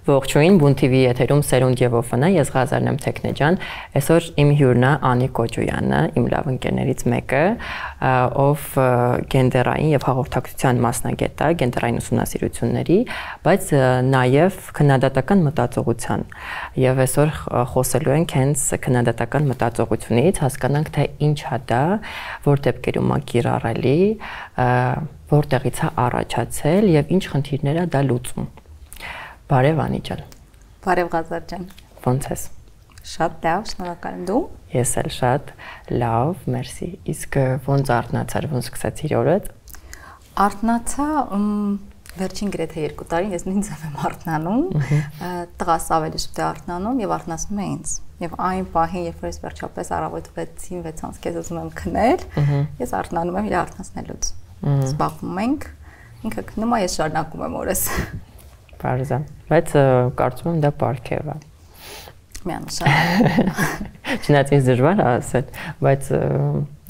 Ողջույն, Բուն TV եթերում Սերունդ եւ Օֆնա, ես Ղազարն եմ Թեքնեջան, այսօր իմ հյուրն է Անի Կոջոյանը, իմ լավ ընկերներից մեկը, ով գենդերային եւ հաղորդակցության մասնագետ է, գենդերային ուսումնասիրությունների, բայց նաեւ քննադատական մտածողության։ Եվ այսօր խոսելու ենք հենց քննադատական մտածողությունից, հասկանանք թե ինչ է դա, որ դեպքերում է կիրառելի, որտեղից է առաջացել եւ ինչ խնդիրներ է դա լուծում։ Բարև Անի ջան։ Բարև Ղազար ջան։ Ոնց ես։ Շատ լավ, շնորհակալ եմ դու։ Ես էլ շատ լավ, մերսի։ Իսկ ոնց արթնացար, ոնց սկսեցիր օրդ։ Արթնացա վերջին գրեթե 2 տարին ես նույն ձև եմ արթնանում։ Տղաս ավելի շուտ է արթնանում եւ արթնացնում է ինձ։ Եվ այն պահին, երբ որ ես վերջապես առավոտ 6-ին 6-ից քեզ ուզում եմ քնել, ես արթնանում եմ իր արթնացնելուց։ Զբաղվում ենք, ինքը քնում է, ես շարունակում եմ օրս։ Բարզա, բայց կարծում եմ դա պարգև է։ Միանշանակ։ Չնայած ինձ դժվար է ասել, բայց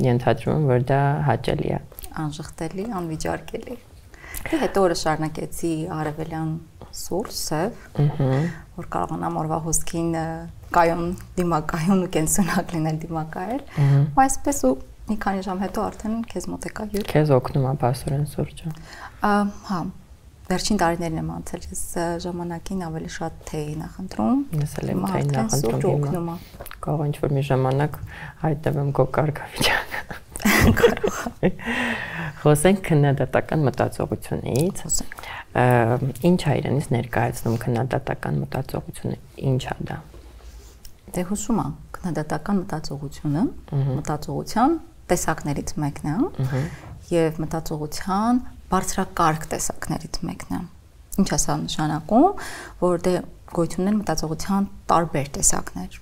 ենթադրում եմ, որ դա հաճելի է։ Անժխտելի, անվիճարկելի։ Դե հետո օրը շարունակեցի արևելյան սուրճ, սև, որ կարողանամ օրվա հոսքին կայուն դիմակայուն ու կենսունակ լինել դիմակայել։ Ու այսպես ու մի քանի ժամ հետո արդեն քեզ մոտ եկա հյուր։ Քեզ օգնում է բասորեն սուրճը։ Հա, վերջին տարիներն եմ անցել, ես ժամանակին ավելի շատ թեյ նախընտրում։ Ես էլ եմ թեյ նախընտրում հիմա։ Կարող ինչ-որ մի ժամանակ հայտնվեմ կոկարգավիճակ։ Կարող է։ Խոսենք քննադատական մտածողությունից։ Ինչ է իրենից ներկայացնում քննադատական մտածողությունը, ինչ է դա։ Դե հուսում եմ, քննադատական մտածողությունը մտածողության տեսակներից մեկն է եւ մտածողության բարձրակարգ տեսակներից մեկն է։ Ինչ է սա նշանակում, որ դե գոյություն ունեն մտածողության տարբեր տեսակներ։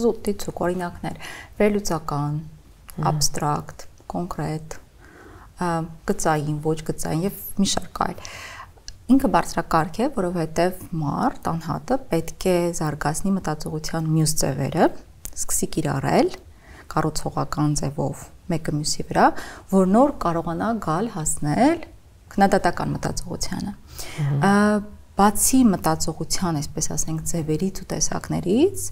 Զուտ դիցուկ օրինակներ, վերլուծական, abstract, կոնկրետ, գծային, ոչ գծային եւ մի շարք այլ։ Ինքը բարձրակարգ է, որովհետեւ մարդ անհատը պետք է զարգացնի մտածողության մյուս ձևերը, սկսի կիրառել կառուցողական ձևով մեկը մյուսի վրա, որ նոր կարողանա գալ հասնել քննադատական մտածողությանը։ Բացի մտածողության, այսպես ասենք, ձևերից ու տեսակներից,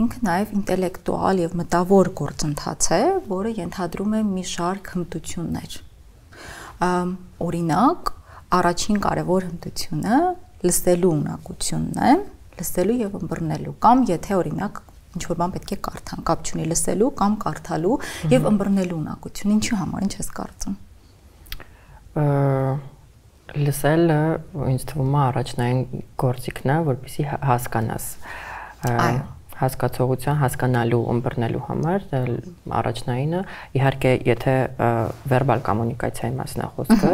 ինքը նաև ինտելեկտուալ եւ մտավոր գործընթաց է, որը ենթադրում է մի շարք հմտություններ։ Օրինակ, առաջին կարևոր հմտությունը լսելու ունակությունն է, լսելու եւ ըմբռնելու, կամ եթե օրինակ ինչ-որ բան պետք է կարդան, կապ չունի լսելու կամ կարդալու եւ ըմբռնելու ունակություն, ինչի համար, ինչ ես կարծում։ Լսելը ինձ թվում է առաջնային գործիքն է, որպեսզի հասկանաս։ Հասկացողության, հասկանալու, ըմբռնելու համար առաջնայինը, իհարկե, եթե վերբալ կոմունիկացիայի մասն է խոսքը,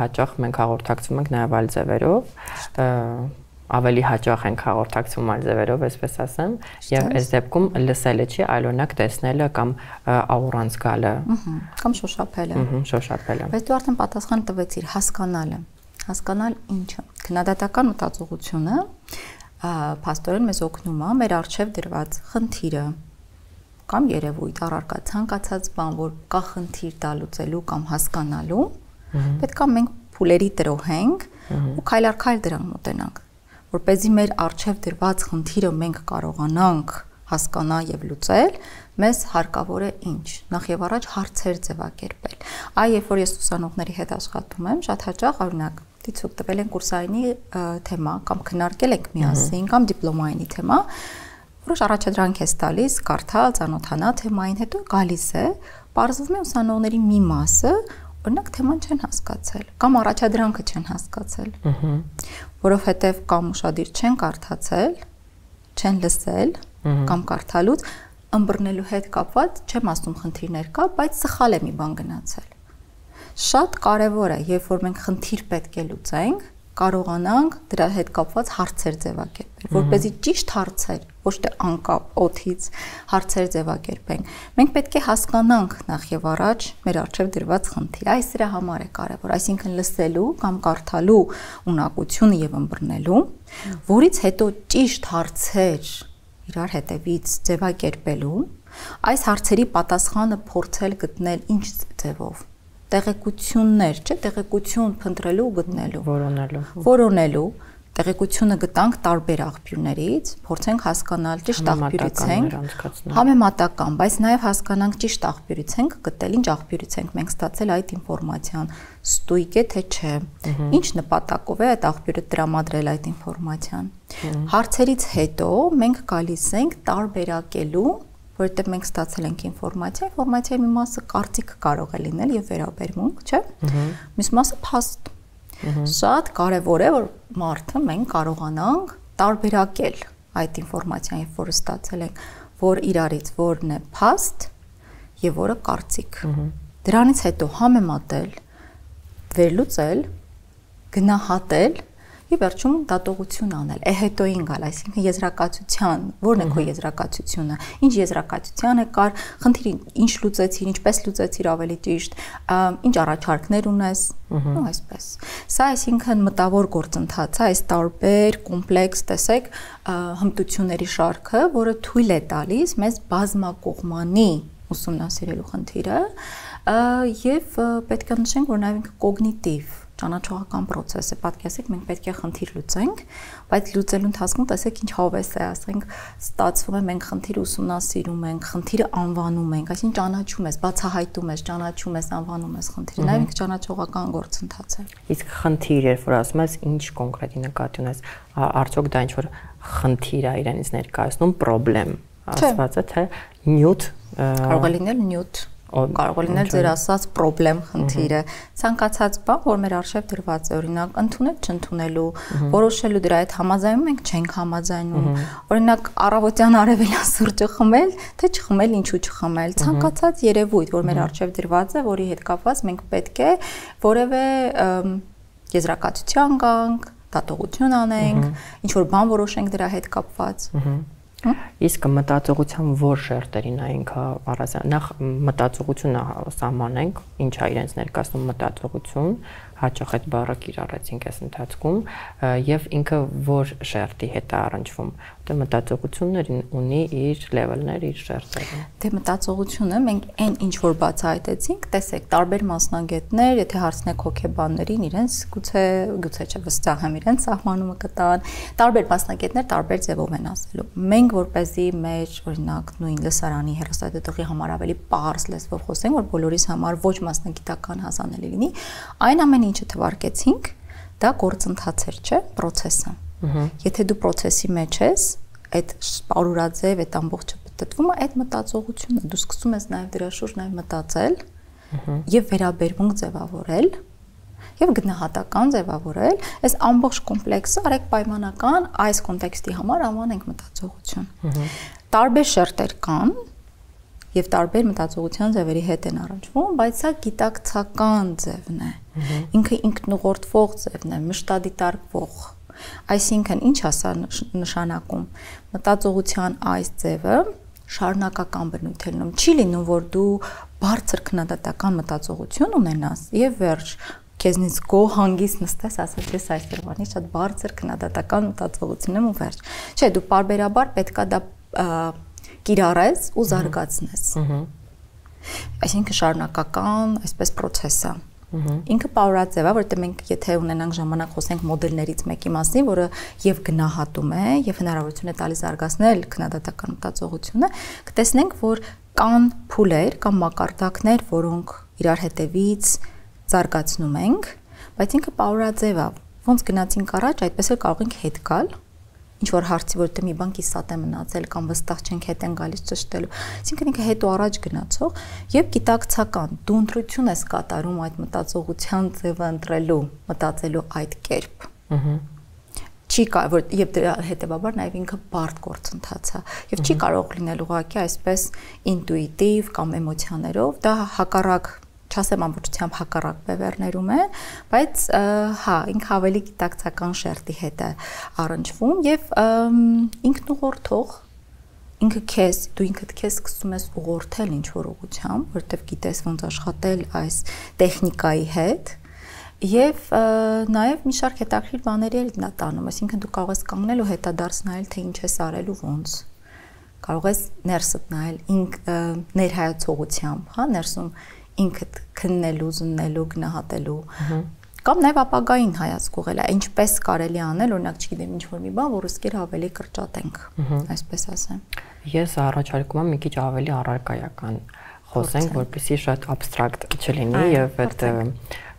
հաճախ մենք հաղորդակցում ենք նաև այլ ձևերով, ավելի հաճախ ենք հաղորդակցում այլ ձևերով, այսպես ասեմ, եւ այս դեպքում լսելը չի, այլ օրինակ տեսնելը կամ աուրանց գալը, կամ շոշափելը։ Շոշափելը։ Բայց դու արդեն պատասխան տվեցիր, հասկանալը։ Հասկանալ ինչը։ Քննադատական մտածողությունը փաստորեն մեզ օգնում է մեր առջև դրված խնդիրը կամ երևույթ, առարկա ցանկացած բան, որ կա խնդիր դա լուծելու կամ հասկանալու, պետք է մենք փուլերի տրոհենք ու քայլ առ քայլ դրան մոտենանք, որպեսզի մեր առջև դրված խնդիրը մենք կարողանանք հասկանալ եւ լուծել, մեզ հարկավոր է ինչ։ Նախ եւ առաջ հարցեր ձևակերպել։ Երբ որ ես ուսանողների հետ աշխատում եմ, շատ հաճախ օրինակ դիցուկ տվել են կուրսայինի թեմա կամ քննարկել ենք միասին կամ դիպլոմայինի թեմա, որոշ առաջադրանք է տալիս, կարդալ, ծանոթանալ թեմային, հետո գալիս է, պարզվում է ուսանողների մի մասը օրինակ թեման չեն հասկացել կամ առաջադրանքը չեն հասկացել, որովհետև կամ ուշադիր չեն կարդացել, չեն լսել կամ կարդալուց ըմբռնելու հետ կապված չեմ ասում խնդիրներ կա, բայց սխալ է մի բան գնացել։ Շատ կարևոր է, երբ որ մենք խնդիր պետք է լուծենք, կարողանանք դրա հետ կապված հարցեր ձևակերպել, որպեսզի ճիշտ հարցեր, ոչ թե անկապ օդից հարցեր ձևակերպենք։ Մենք պետք է հասկանանք նախ եւ առաջ մեր առջև դրված խնդիր։ Այս դրա համար է կարևոր, այսինքն լսելու կամ կարդալու ունակությունը եւ ըմբռնելու, որից հետո ճիշտ հարցեր իրար հետևից ձևակերպելու, այս հարցերի պատասխանը փորձել գտնել ինչ ձևով։ Տեղեկություններ, չէ, տեղեկություն փնտրելու ու գտնելու, որոնելու, տեղեկությունը գտանք տարբեր աղբյուրներից, փորձենք հասկանալ ճիշտ աղբյուրից ենք, համեմատական, բայց նաև հասկանանք ճիշտ աղբյուրից ենք գտել, ինչ աղբյուրից ենք մենք ստացել այդ ինֆորմացիան, ստույգ է թե չէ, ինչ նպատակով է այդ աղբյուրը տրամադրել այդ ինֆորմացիան։ Հարցերից հետո մենք գալիս ենք տարբերակելու, որովհետև մենք ստացել ենք ինֆորմացիայի մի մասը կարծիք կարող է լինել եւ վերաբերմունք, չէ՞։ Մյուս մասը փաստ։ Շատ կարևոր է, որ մարդը մենք կարողանանք տարբերակել այդ ինֆորմացիան, երբ որ ստացել ենք, որ իրարից որն է փաստ եւ որը կարծիք։ Դրանից հետո համեմատել, վերլուծել, գնահատել եւ վերջում դատողություն անել։ Հետոին գալ, այսինքն եզրակացության, որն է քո եզրակացությունը, ինչ եզրակացության է կար, խնդիրը ինչ լուծեցիր, ինչպես լուծեցիր ավելի ճիշտ, ինչ առաջարկներ ունես, ու այսպես։ Սա այսինքն մտավոր գործընթաց է, այս տարբեր կոմպլեքս, տեսեք, հմտությունների շարքը, որը թույլ է տալիս մեզ բազմակողմանի ուսումնասիրելու խնդիրը, եւ պետք է նշենք, որ նաեւ կոգնիտիվ ճանաչողական process է, պատկերացրեք, մենք պետք է խնդիր լուծենք, բայց լուծելու ընթացքում տեսեք ինչ հավես է, ասենք, ստացվում է մենք խնդիրը ուսումնասիրում ենք, խնդիրը անվանում ենք, այսինքն ճանաչում ես, բացահայտում ես, ճանաչում ես, անվանում ես խնդիրը, նաև ինքը ճանաչողական գործընթաց է։ Իսկ խնդիր, երբ որ ասում ես, ինչ կոնկրետ նկատի ունես, արդյոք դա ինչ որ խնդիր է իրենից ներկայացնում, պրոբլեմ, ասված է, թե նյութ, կարող է լինել նյութ, կարող է լինել ձեր ասած պրոբլեմ խնդիրը, ցանկացած բան, որ մեր արժև դրված է, օրինակ ընդունել, չընդունելու, որոշելու դրա հետ համաձայնում ենք, չենք համաձայնում, օրինակ առավոտյան արևելյան սուրճը խմել, թե չխմել, ինչու չխմել, ցանկացած երևույթ, որ մեր արժև դրված է, որի հետ կապված մենք պետք է որևէ եզրակացության գանք, դատողություն անենք, ինչ որ բան որոշենք դրա հետ կապված։ Իսկ մտածողության որ շերտերին է ինքը առանձին նախ մտածողությունը սահմանենք, ինչ է իրենց ներկայացնում մտածողություն, հաճախ այդ բառը կիրառեցինք այս ընթացքում, եւ ինքը որ շերտի հետ է առնչվում, դե մտածողությունն ունի իր լեվելներ, իր շերտերը։ Դե մտածողությունը մենք այն ինչ որ բացահայտեցինք, տեսեք, տարբեր մասնագետներ, եթե հարցնեք հոգեբաններին, իրենց գուցե չէ, վստահ եմ իրենց սահմանումը կտան, տարբեր մասնագետներ տարբեր ձևով են ասելու։ Մենք որպեսզի մեր օրինակ նույն լսարանի հեռուստադիտողի համար ավելի պարզ լեզվով խոսենք, որ բոլորիս համար ոչ մասնագիտական հասանելի լինի, այն ամեն ինչը թվարկեցինք, դա գործընթաց էր, չէ, process-ը։ Եթե դու process-ի մեջ ես, այդ պարուրաձև, այդ ամբողջը պատտվում է, այդ մտածողությունը, դու սկսում ես նաև դրա շուրջ նաև մտածել եւ վերաբերմունք ձևավորել եւ գնահատական ձևավորել, այս ամբողջ կոմպլեքսը արեք պայմանական այս կոնտեքստի համար անվանենք մտածողություն։ Տարբեր շերտեր կան եւ տարբեր մտածողության ձևերի հետ են առնչվում, բայց սա գիտակցական ձևն է։ Ինքը ինքնուղորդվող ձևն է, մշտադիտարկվող։ Այսինքն ինչ է սա նշանակում։ Մտածողության այս ձևը շարունակական բնույթ է լինում։ Չի լինում, որ դու բարձր քննադատական մտածողություն ունենաս եւ վերջ քեզնից գոհ հանգիստ նստես, ասես ես այսօրվանից շատ բարձր քննադատական մտածողություն եմ ու վերջ։ Չէ, դու պարբերաբար պետքա դա կիրառես ու զարգացնես։ Այսինքն շարունակական այսպես process է։ Ինքը պարուրաձև է, որտեղ մենք եթե ունենանք ժամանակ խոսենք մոդելներից մեկի մասին, որը եւ գնահատում է եւ հնարավորություն է տալիս զարգացնել քննադատական մտածողությունը, կտեսնենք, որ կան փուլեր կամ մակարդակներ, որոնք իրար հետևից զարգացնում ենք, բայց ինքը պարուրաձև է։ Ոնց գնացինք առաջ, այդպես էլ կարող ենք հետ գալ, ինչ որ հարցի, որտեղ մի բան կիսատ է մնացել կամ վստահ չենք հետ են գալիս ճշտելու։ Այսինքն ինքը հետո առաջ գնացող եւ գիտակցական դու ընտրություն ես կատարում այդ մտածողության ձևը ընտրելու, մտածելու այդ կերպ։ Չի կարող եւ դրա հետեւաբար նաեւ ինքը բարդ գործընթաց է եւ չի կարող լինել ուղղակի այսպես ինտուիտիվ կամ էմոցիաներով, դա հակառակ չասեմ ամբողջությամբ հակառակ բևեռներում է, բայց հա, ինքը ավելի գիտակցական շերտի հետ է առնչվում եւ ինքնուղորդող ինքը քեզ դու ինքդ քեզ սկսում ես ուղղորդել ինչ որ ուղղությամբ, որովհետեւ գիտես ոնց աշխատել այս տեխնիկայի հետ եւ նաեւ մի շարք հետաքրքիր բաների էլ նա տանում, այսինքն դու կարող ես կանգնել ու հետադարձ նայել թե ինչ ես արել ու ոնց կարող ես ներսդ նայել ներհայացողությամբ, հա, ներսում ինքդ քննելու, զննելու, գնահատելու, Կամ նաև ապագային հայացք ուղղել, ինչպես կարելի անել, օրինակ, չգիտեմ, ինչ-որ մի բան, որը սկեր ավելի կրճատենք, այսպես ասեմ։ Ես առաջարկում եմ մի քիչ ավելի առարկայական խոսենք, որպեսզի շատ абստրակտ չլինի եւ այդ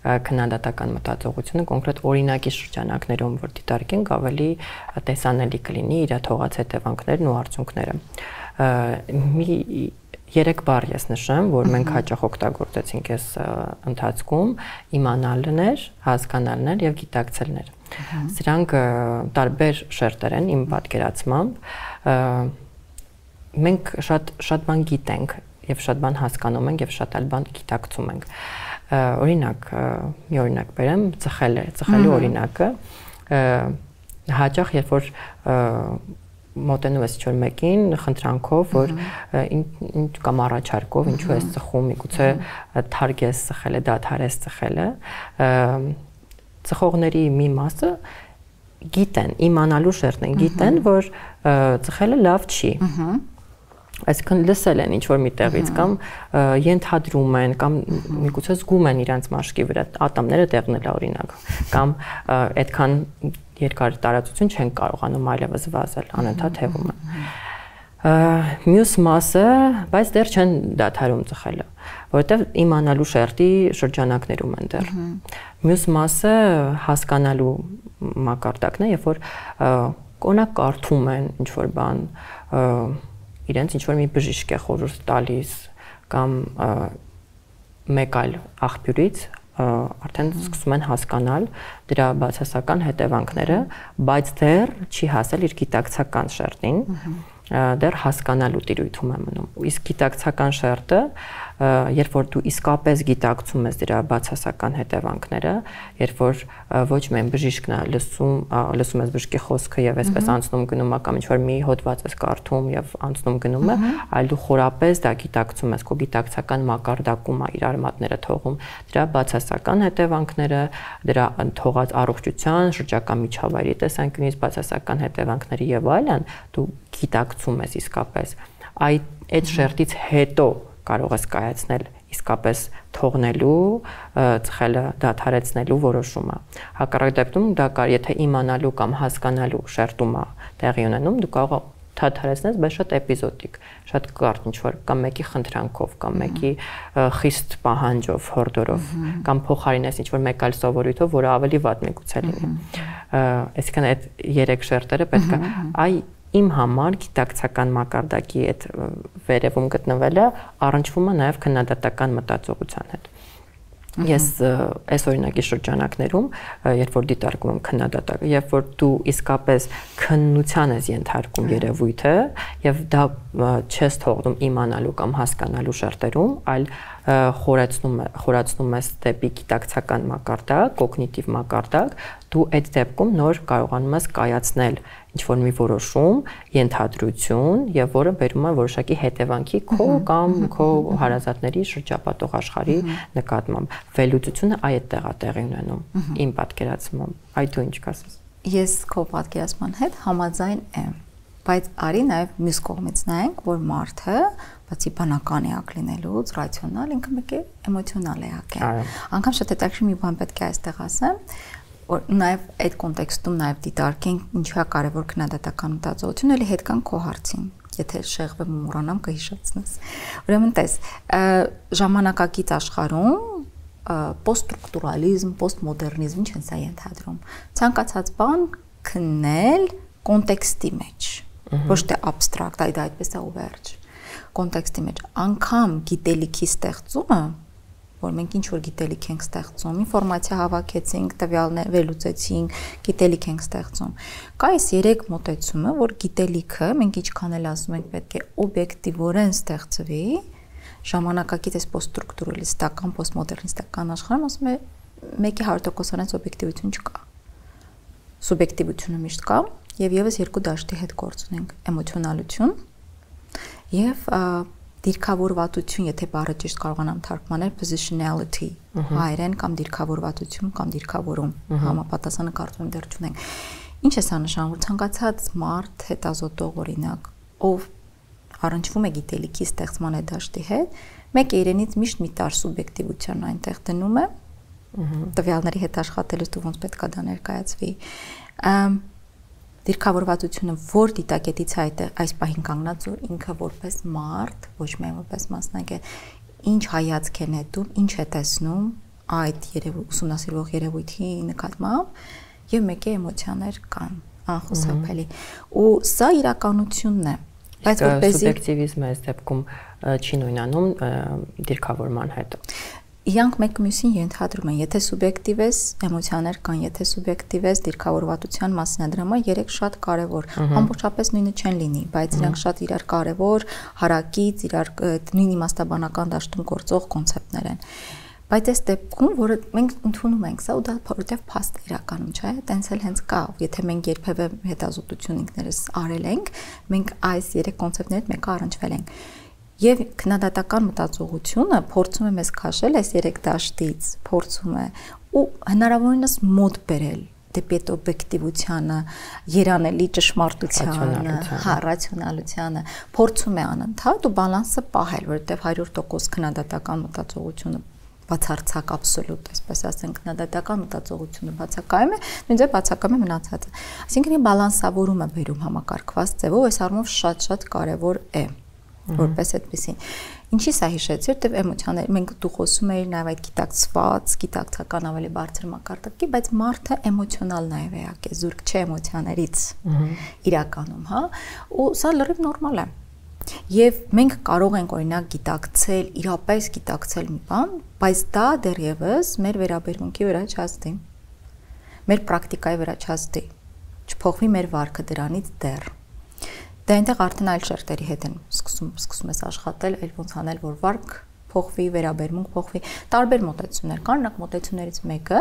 քննադատական մտածողությունը կոնկրետ օրինակի շրջանակներում, որ դիտարկենք, ավելի տեսանելի կլինի իր թողած հետևանքներն ու արդյունքները։ Մի 3 բառ ես նշեմ, որ մենք հաճախ օգտագործեցինք այս ընթացքում՝ իմանալն էր, հասկանալն էր եւ գիտակցելն էր։ Սրանք տարբեր շերտեր են իմ պատկերացմամբ։ Մենք շատ բան գիտենք եւ շատ բան հասկանում ենք եւ շատ այլ բան գիտակցում ենք։ Օրինակ, մի օրինակ բերեմ, ծխելու օրինակը, հաճախ երբ որ մոտենում ես ինչ-որ մեկին խնդրանքով, որ ինչ կամ առաջարկով, ինչու ես ծխում, միգուցե թարք ես ծխելը, դադար ես ծխելը, ծխողների մի մասը գիտեն, իմանալու շերտն են, գիտեն, որ ծխելը լավ չի։ Այսինքն լսել են ինչ-որ մի տեղից կամ ենթադրում են կամ միգուցե զգում են իրենց մաշկի վրա ատամները տեղնել օրինակ կամ այդքան երկար տարածություն չեն կարողանում այլևս վազել, անընդհատ հևում են։ Մյուս մասը, բայց դեռ չեն դադարում ծխելը, որովհետև իմանալու շերտի շրջանակներում են դեռ։ Մյուս մասը հասկանալու մակարդակն է, երբ որ կոնակ կարդում են ինչ-որ բան, իրենց ինչ-որ մի բժիշկ է խորհուրդ տալիս կամ մեկ այլ աղբյուրից արդեն սկսում են հասկանալ դրա բացասական հետևանքները, բայց դեռ չի հասել իր գիտակցական շերտին, դեռ հասկանալու տիրույթում է մնում։ Իսկ գիտակցական շերտը, երբ որ դու իսկապես գիտակցում ես դրա բացասական հետևանքները, երբ որ ոչ միայն բժիշկն է լսում ես բժշկի խոսքը եւ այսպես անցնում գնում է կամ ինչ-որ մի հոդված ես կարդում եւ անցնում գնում է, այլ դու խորապես դա գիտակցում ես, քո գիտակցական մակարդակում է իր արմատները թողում դրա բացասական հետևանքները, դրա թողած առողջության, շրջակա միջավայրի տեսանկյունից բացասական հետևանքների եւ այլն, դու գիտակցում ես իսկապես։ Այդ շերտից հետո կարող ես կայացնել իսկապես թողնելու, ծխելը դադարեցնելու որոշումը։ Հակառակ դեպքում դա եթե իմանալու կամ հասկանալու շերտում է տեղի ունենում, դու կարող ես դադարեցնես, բայց շատ էպիզոդիկ, շատ կարճ ինչ-որ կամ մեկի խնդրանքով, կամ մեկի խիստ պահանջով, հորդորով, կամ փոխարինես ինչ-որ մեկ այլ սովորույթով, որը ավելի վատ միգուցե լինի։ Այսինքն այդ 3 շերտերը պետք է իմ համար գիտակցական մակարդակի այդ վերևում գտնվելը առնչվում է նաև քննադատական մտածողության հետ։ Ես այս օրինակի շրջանակներում, երբ որ դիտարկում եմ քննադատական, երբ որ դու իսկապես քննության ես ենթարկում երևույթը եւ դա չես թողնում իմանալու կամ հասկանալու շերտերում, այլ խորացնում ես դեպի գիտակցական մակարդակ, կոգնիտիվ մակարդակ, դու այդ դեպքում նոր կարողանում ես կայացնել ինչ-որ մի որոշում, ենթադրություն եւ որը բերում է որոշակի հետևանքի քո կամ քո հարազատների շրջապատող աշխարհի նկատմամբ։ Վերլուծությունը այդտեղ է տեղի ունենում իմ պատկերացմամբ։ Այդ դու ինչ կասես։ Ես քո պատկերացման հետ համաձայն եմ, բայց արի նաեւ մյուս կողմից նայենք, որ մարդը բացի բանական էակ լինելուց, ռացիոնալ, ինքը մեկ է էմոցիոնալ էակ է։ Անկամ շատ հետաքրքիր մի բան պետք է այստեղ ասեմ, որ նաև այդ կոնտեքստում նաև դիտարկենք ինչու է կարևոր քննադատական մտածողությունը, էլի հետ կան քո հարցին, եթե շեղվեմ ու մոռանամ կհիշեցնես։ Ուրեմն տես, ժամանակակից աշխարհում պոստստրուկտուրալիզմ, պոստմոդեռնիզմ ինչ են սա ենթադրում։ Ցանկացած բան քննել կոնտեքստի մեջ, ոչ թե абստրակտ, այլ դա այդպես է ու վերջ։ Կոնտեքստի մեջ անգամ գիտելիքի ստեղծումը, որ մենք ինչ-որ գիտելիք ենք ստեղծում, ինֆորմացիա հավաքեցինք, տվյալներ վերլուծեցինք, գիտելիք ենք ստեղծում։ Կա այս 3 մոտեցումը, որ գիտելիքը, մենք ինչքան էլ ասում ենք պետք է օբյեկտիվորեն ստեղծվի, ժամանակակից այս պոստստրուկտուրալիստական, պոստմոդեռնիստական աշխարհում ասում է 100% անց օբյեկտիվություն չկա։ Սուբյեկտիվությունը միշտ կա, եւ եւս 2 դաշտի հետ գործ ունենք՝ էմոցիոնալություն եւ դիրքավորվածություն, եթե բառը ճիշտ կարողանամ թարգմանել, positionality, հայերեն կամ դիրքավորվածություն կամ դիրքավորում, համապատասխանը կարծում եմ դեռ չունենք։ Ինչ է սա նշանակում, որ ցանկացած մարդ հետազոտող օրինակ, ով առնչվում է գիտելիքի ստեղծման այդ դաշտի հետ, մեկը իրենից միշտ մի տար սուբյեկտիվություն այնտեղ դնում է Տվյալների հետ աշխատելուց դու ոնց պետք է դա ներկայացվի։ Դիրքավորվածությունը որ դիտակետից այս պահին կանգնած որ ինքը որպես մարդ, ոչ միայն որպես մասնագետ, ինչ հայացք է նետում, ինչ է տեսնում այդ ուսումնասիրվող երևույթի նկատմամբ եւ մեկի էմոցիաներ կան անխուսափելի։ Ու սա իրականությունն է, բայց որպեսզի սուբյեկտիվիզմը այս դեպքում չի նույնանում դիրքավորման հետ։ Իրանք մեկ մյուսին ենթադրում են, եթե սուբյեկտիվ ես, էմոցիաներ կան, եթե սուբյեկտիվ ես, դիրքավորվածության մասնադրումը երեք շատ կարևոր, ամբողջապես նույնը չեն լինի, բայց իրանք շատ իրար կարևոր, հարակից, իրար նույն իմաստաբանական դաշտում գործող կոնցեպտներ են։ Բայց այս դեպքում, որը մենք ընդունում ենք, սա ու դա որովհետև փաստ է իրականում, չէ՞, տենց էլ հենց կա, եթե մենք երբևէ հետազոտություն ինքներս արել ենք, մենք այս երեք կոնցեպտներից մեկը առնչվել ենք։ Եվ քննադատական մտածողությունը փորձում է մեզ քաշել այս երեք դաշտից, փորձում է ու հնարավորինս մոտ բերել դեպի այդ օբյեկտիվությանը, երանելի ճշմարտությանը, ռացիոնալությանը, փորձում է անընդհատ ու բալանսը պահել, որովհետև 100% քննադատական մտածողությունը բացարձակ աբսոլյուտ, այսպես ասենք, քննադատական մտածողությունը բացակայում է, նույնիսկ բացակայում է մնացածը։ Այսինքն բալանսավորումը բերում համակարգված ձևով, այս առումով շատ կարևոր է, որպես այդպեսին։ Ինչի սա հիշեցի, որտեղ էմոցիաներ, մենք դու խոսում էիր նաև այդ գիտակցված, գիտակցական ավելի բարձր մակարդակի, բայց մարդը էմոցիոնալ նաև էակ է, զուրկ չէ էմոցիաներից իրականում, հա, ու սա լրիվ նորմալ է։ Եվ մենք կարող ենք օրինակ գիտակցել, իրապես գիտակցել մի բան, բայց դա դեռևս մեր վերաբերմունքի վրա չազդի, մեր պրակտիկայի վրա չազդի, չփոխվի մեր վարքը դրանից դեռ։ Դա այնտեղ արդեն այլ շերտերի հետ են սկսում ես աշխատել, այլ ոնց անել, որ վարք փոխվի, վերաբերմունք փոխվի։ Տարբեր մոտեցումներ կան, օրինակ մոտեցումներից մեկը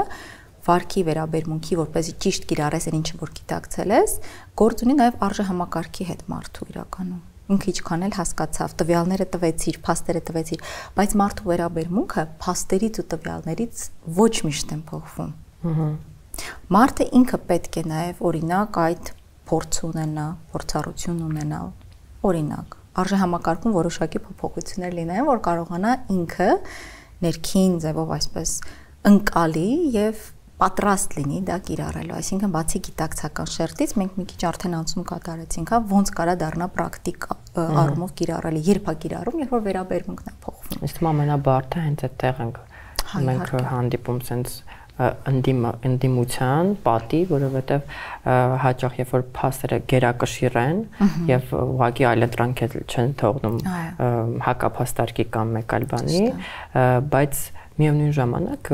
վարքի վերաբերմունքի, որպեսզի ճիշտ կիրառես այն ինչը որ գիտակցել ես, գործ ունի նաև արժեհամակարգի հետ մարդու իրականում։ Ինքը ինչքան էլ հասկացավ, տվյալները տվեցիր, փաստերը տվեցիր, բայց մարդու վերաբերմունքը փաստերից ու տվյալներից ոչ միշտ են փոխվում։ Մարդը ինքը պետք է նաև օրինակ այդ փորձ ունենա, փորձառություն ունենա, օրինակ, արժեհամակարգում որոշակի փոփոխություններ լինեն, որ կարողանա ինքը ներքին ձևով այսպես ընկալի եւ պատրաստ լինի դա կիրառելու, այսինքն բացի գիտակցական շերտից մենք մի քիչ արդեն անցում կատարեցինք, հա, ոնց կարա դառնա պրակտիկ առումով կիրառելի, երբ է կիրառում, երբ որ վերաբերմունքն է փոխվում։ Իսկ ամենաբարդը հենց այդտեղ մենք հանդիպում sense ընդդիմության պատի, որովհետև հաճախ երբ որ փաստերը գերակշիռ են եւ ուղղակի այլընտրանք չեն թողնում հակափաստարկի կամ մեկ այլ բանի, բայց միևնույն ժամանակ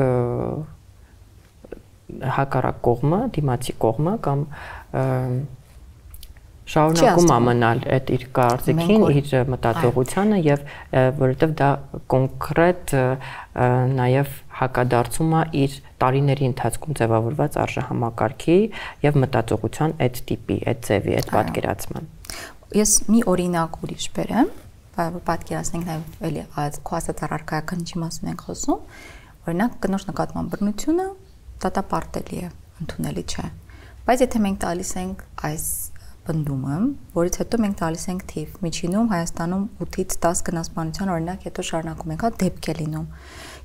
հակառակ կողմը, դիմացի կողմը կամ շարունակում ամենալ այդ իր կարծիքին, իր մտածողությանը եւ որովհետեւ դա կոնկրետ նաեւ հակադարձում է իր տարիների ընթացքում ձևավորված արժեհամակարգի եւ մտածողության այդ տիպի, այդ ձևի, այդ պատկերացման։ Ես մի օրինակ ուրիշ բերեմ, պատկերացնենք նաեւ էլի քո ասած առարկայական ինչի մասին ենք խոսում, օրինակ կնոջ նկատմամբ բռնությունը դատապարտելի է, ընդունելի չէ։ Բայց եթե մենք տալիս ենք այս բնդումը, որից հետո մենք տալիս ենք թիվ, միջինում Հայաստանում 8-ից 10 գնասպանության օրինակ հետո շարունակում ենք, հա, դեպք է լինում։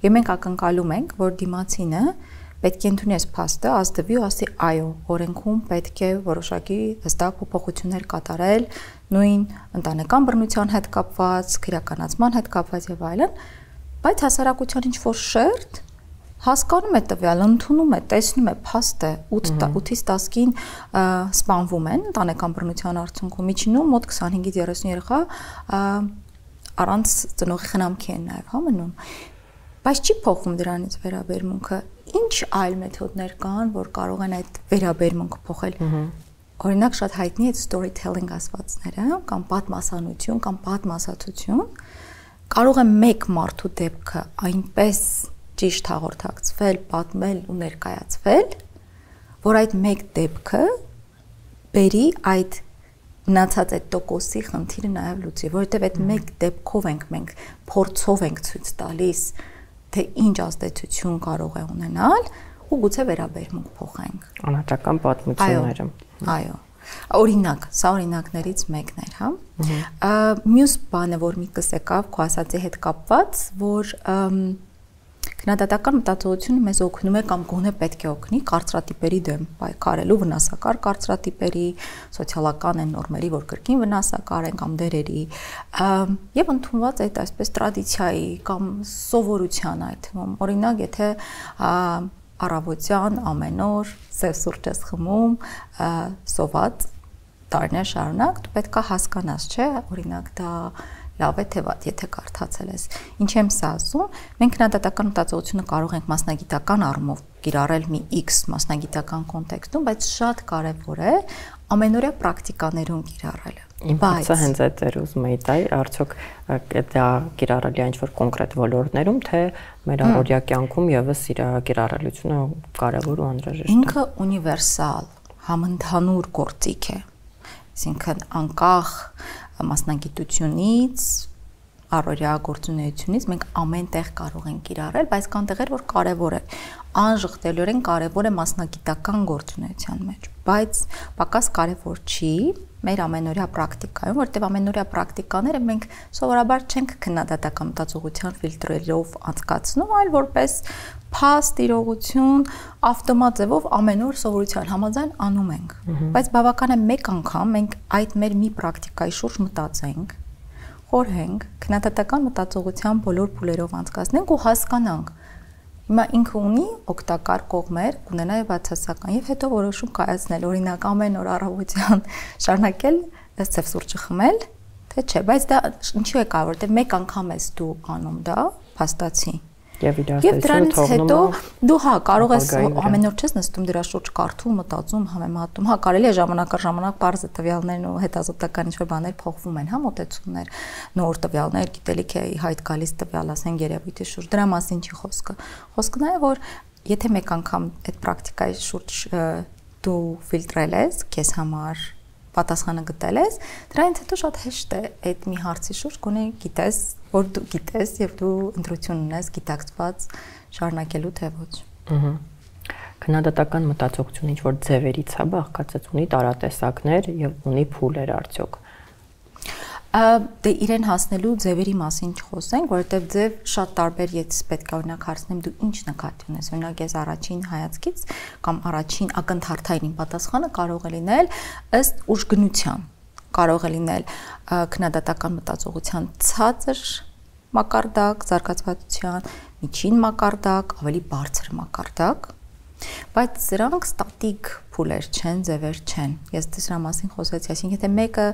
Եվ մենք ակնկալում ենք, որ դիմացինը պետք է ընդունի այս փաստը, ազդվի ու ասի այո, օրենքում պետք է որոշակի հստակ փոփոխություններ կատարել, նույն ընտանեկան բռնության հետ կապված, քրեականացման հետ կապված եւ այլն, բայց հասարակության ինչ որ շերտ հասկանում է տվյալ, ընդունում է, տեսնում է փաստը 8-ից 10-ին սպանվում են ընտանեկան բռնության արդյունքում, միջինում մոտ 25-ից 30 երեխա առանց ծնողի խնամքի են նաև հա մնում։ Բայց չի փոխվում դրանից վերաբերմունքը։ Ինչ այլ մեթոդներ կան, որ կարող են այդ վերաբերմունքը փոխել։ Օրինակ շատ հայտնի է storytelling ասվածները, կամ պատմասանություն, կամ պատմասացություն։ Կարող է մեկ մարդու դեպքը այնպես ճիշտ հաղորդակցվել, պատմել ու ներկայացվել, որ այդ մեկ դեպքը բերի այդ մնացած այդ տոկոսի խնդիրը նաև լուծի, որովհետև այդ մեկ դեպքով ենք մենք փորձով ենք ցույց տալիս, թե ինչ ազդեցություն կարող է ունենալ ու գուցե վերաբերմունք փոխենք։ Անհատական պատմությունները։ Այո։ Օրինակ, սա օրինակներից մեկն էր, հա։ Մյուս բանը, որ միտքս եկավ քո ասածի հետ կապված, որ Քննադատական մտածողությունը մեզ օգնում է կամ գոնե պետք է օգնի կարծրատիպերի դեմ պայքարելու, վնասակար կարծրատիպերի, սոցիալական են նորմերի, որ կրկին վնասակար են կամ դերերի, եւ ընդունված այդ այսպես տրադիցիայի կամ սովորության այդ թվում, օրինակ, եթե առավոտյան ամեն օր սև սուրճ ես խմում, սոված տարիներ շարունակ, դու պետք է հասկանաս, չէ՞, օրինակ դա լավ է թե վատ, եթե կարդացել ես։ Ինչ եմ սա ասում, մենք քննադատական մտածողությունը կարող ենք մասնագիտական առումով կիրառել մի X մասնագիտական կոնտեքստում, բայց շատ կարևոր է ամենօրյա պրակտիկաներում կիրառելը։ Բայց հենց այդ էր ուզում էի տալ, արդյոք դա կիրառելի է ինչ-որ կոնկրետ ոլորտներում, թե մեր առօրյա կյանքում եւս իր կիրառելությունը կարևոր ու անհրաժեշտ է։ Ինքը ունիվերսալ, համընդհանուր գործիք է։ Այսինքն անկախ մասնագիտությունից, առօրյա գործունեությունից մենք ամեն տեղ կարող ենք կիրառել, բայց կան տեղեր, որ կարևոր է, անժխտելիորեն կարևոր է մասնագիտական գործունեության մեջ, բայց պակաս կարևոր չի մեր ամենօրյա պրակտիկայում, որտեղ ամենօրյա պրակտիկաները մենք սովորաբար չենք քննադատական մտածողության ֆիլտրերով անցկացնում, այլ որպես փաստ իրողություն ավտոմատ ձևով ամեն օր սովորության համաձայն անում ենք։ Բայց բավական է մեկ անգամ մենք այդ մեր մի պրակտիկայի շուրջ մտածենք, խորհենք, քննադատական մտածողության բոլոր փուլերով անցկացնենք ու հասկանանք։ Հիմա ինքը ունի օգտակար կողմեր, կունենա եւ բացասական, եւ հետո որոշում կայացնել, օրինակ ամեն օր առավոտյան շարունակել սև սուրճը խմել, թե չէ, բայց դա ինչու է կարևոր, որտեղ մեկ անգամ ես դու անում դա, փաստացի։ Եվ դրանից հետո դու հա կարող ես ամեն օր չես նստում դրա շուրջ կարդում, մտածում, համեմատում։ Հա կարելի է ժամանակ առ ժամանակ բարձր տվյալներն ու հետազոտական ինչ-որ բաներ փոխվում են, հա մոտեցումներ, նոր տվյալներ, գիտելիք է հայտ գալիս տվյալ, ասենք երևույթի շուրջ։ Դրա մասին չի խոսքը։ Խոսքը նա է, որ եթե մեկ անգամ այդ պրակտիկայի շուրջ դու ֆիլտրել ես քեզ համար պատասխանը գտել ես, դրանից հետո շատ հեշտ է այդ մի հարցի շուրջ գոնե գիտես, որ դու գիտես եւ դու ընտրություն ունես գիտակցված շարունակելու թե ոչ։ Քննադատական մտածողությունը ինչ որ ձևերից է բաղկացած, ունի տարատեսակներ եւ ունի փուլեր արդյոք։ Դե իրեն հասնելու ձևերի մասին չխոսենք, որովհետև ձև շատ տարբեր, ես պետք է օրինակ հարցնեմ դու ինչ նկատի ունես, օրինակ ես առաջին հայացքից կամ առաջին ակնթարթային պատասխանը կարող է լինել ըստ ուժգնության, կարող է լինել քննադատական մտածողության ցածր մակարդակ, զարգացվածության, միջին մակարդակ, ավելի բարձր մակարդակ, բայց սրանք ստատիկ փուլեր չեն, ձևեր չեն։ Ես դրա մասին խոսեցի, այսինքն եթե մեկը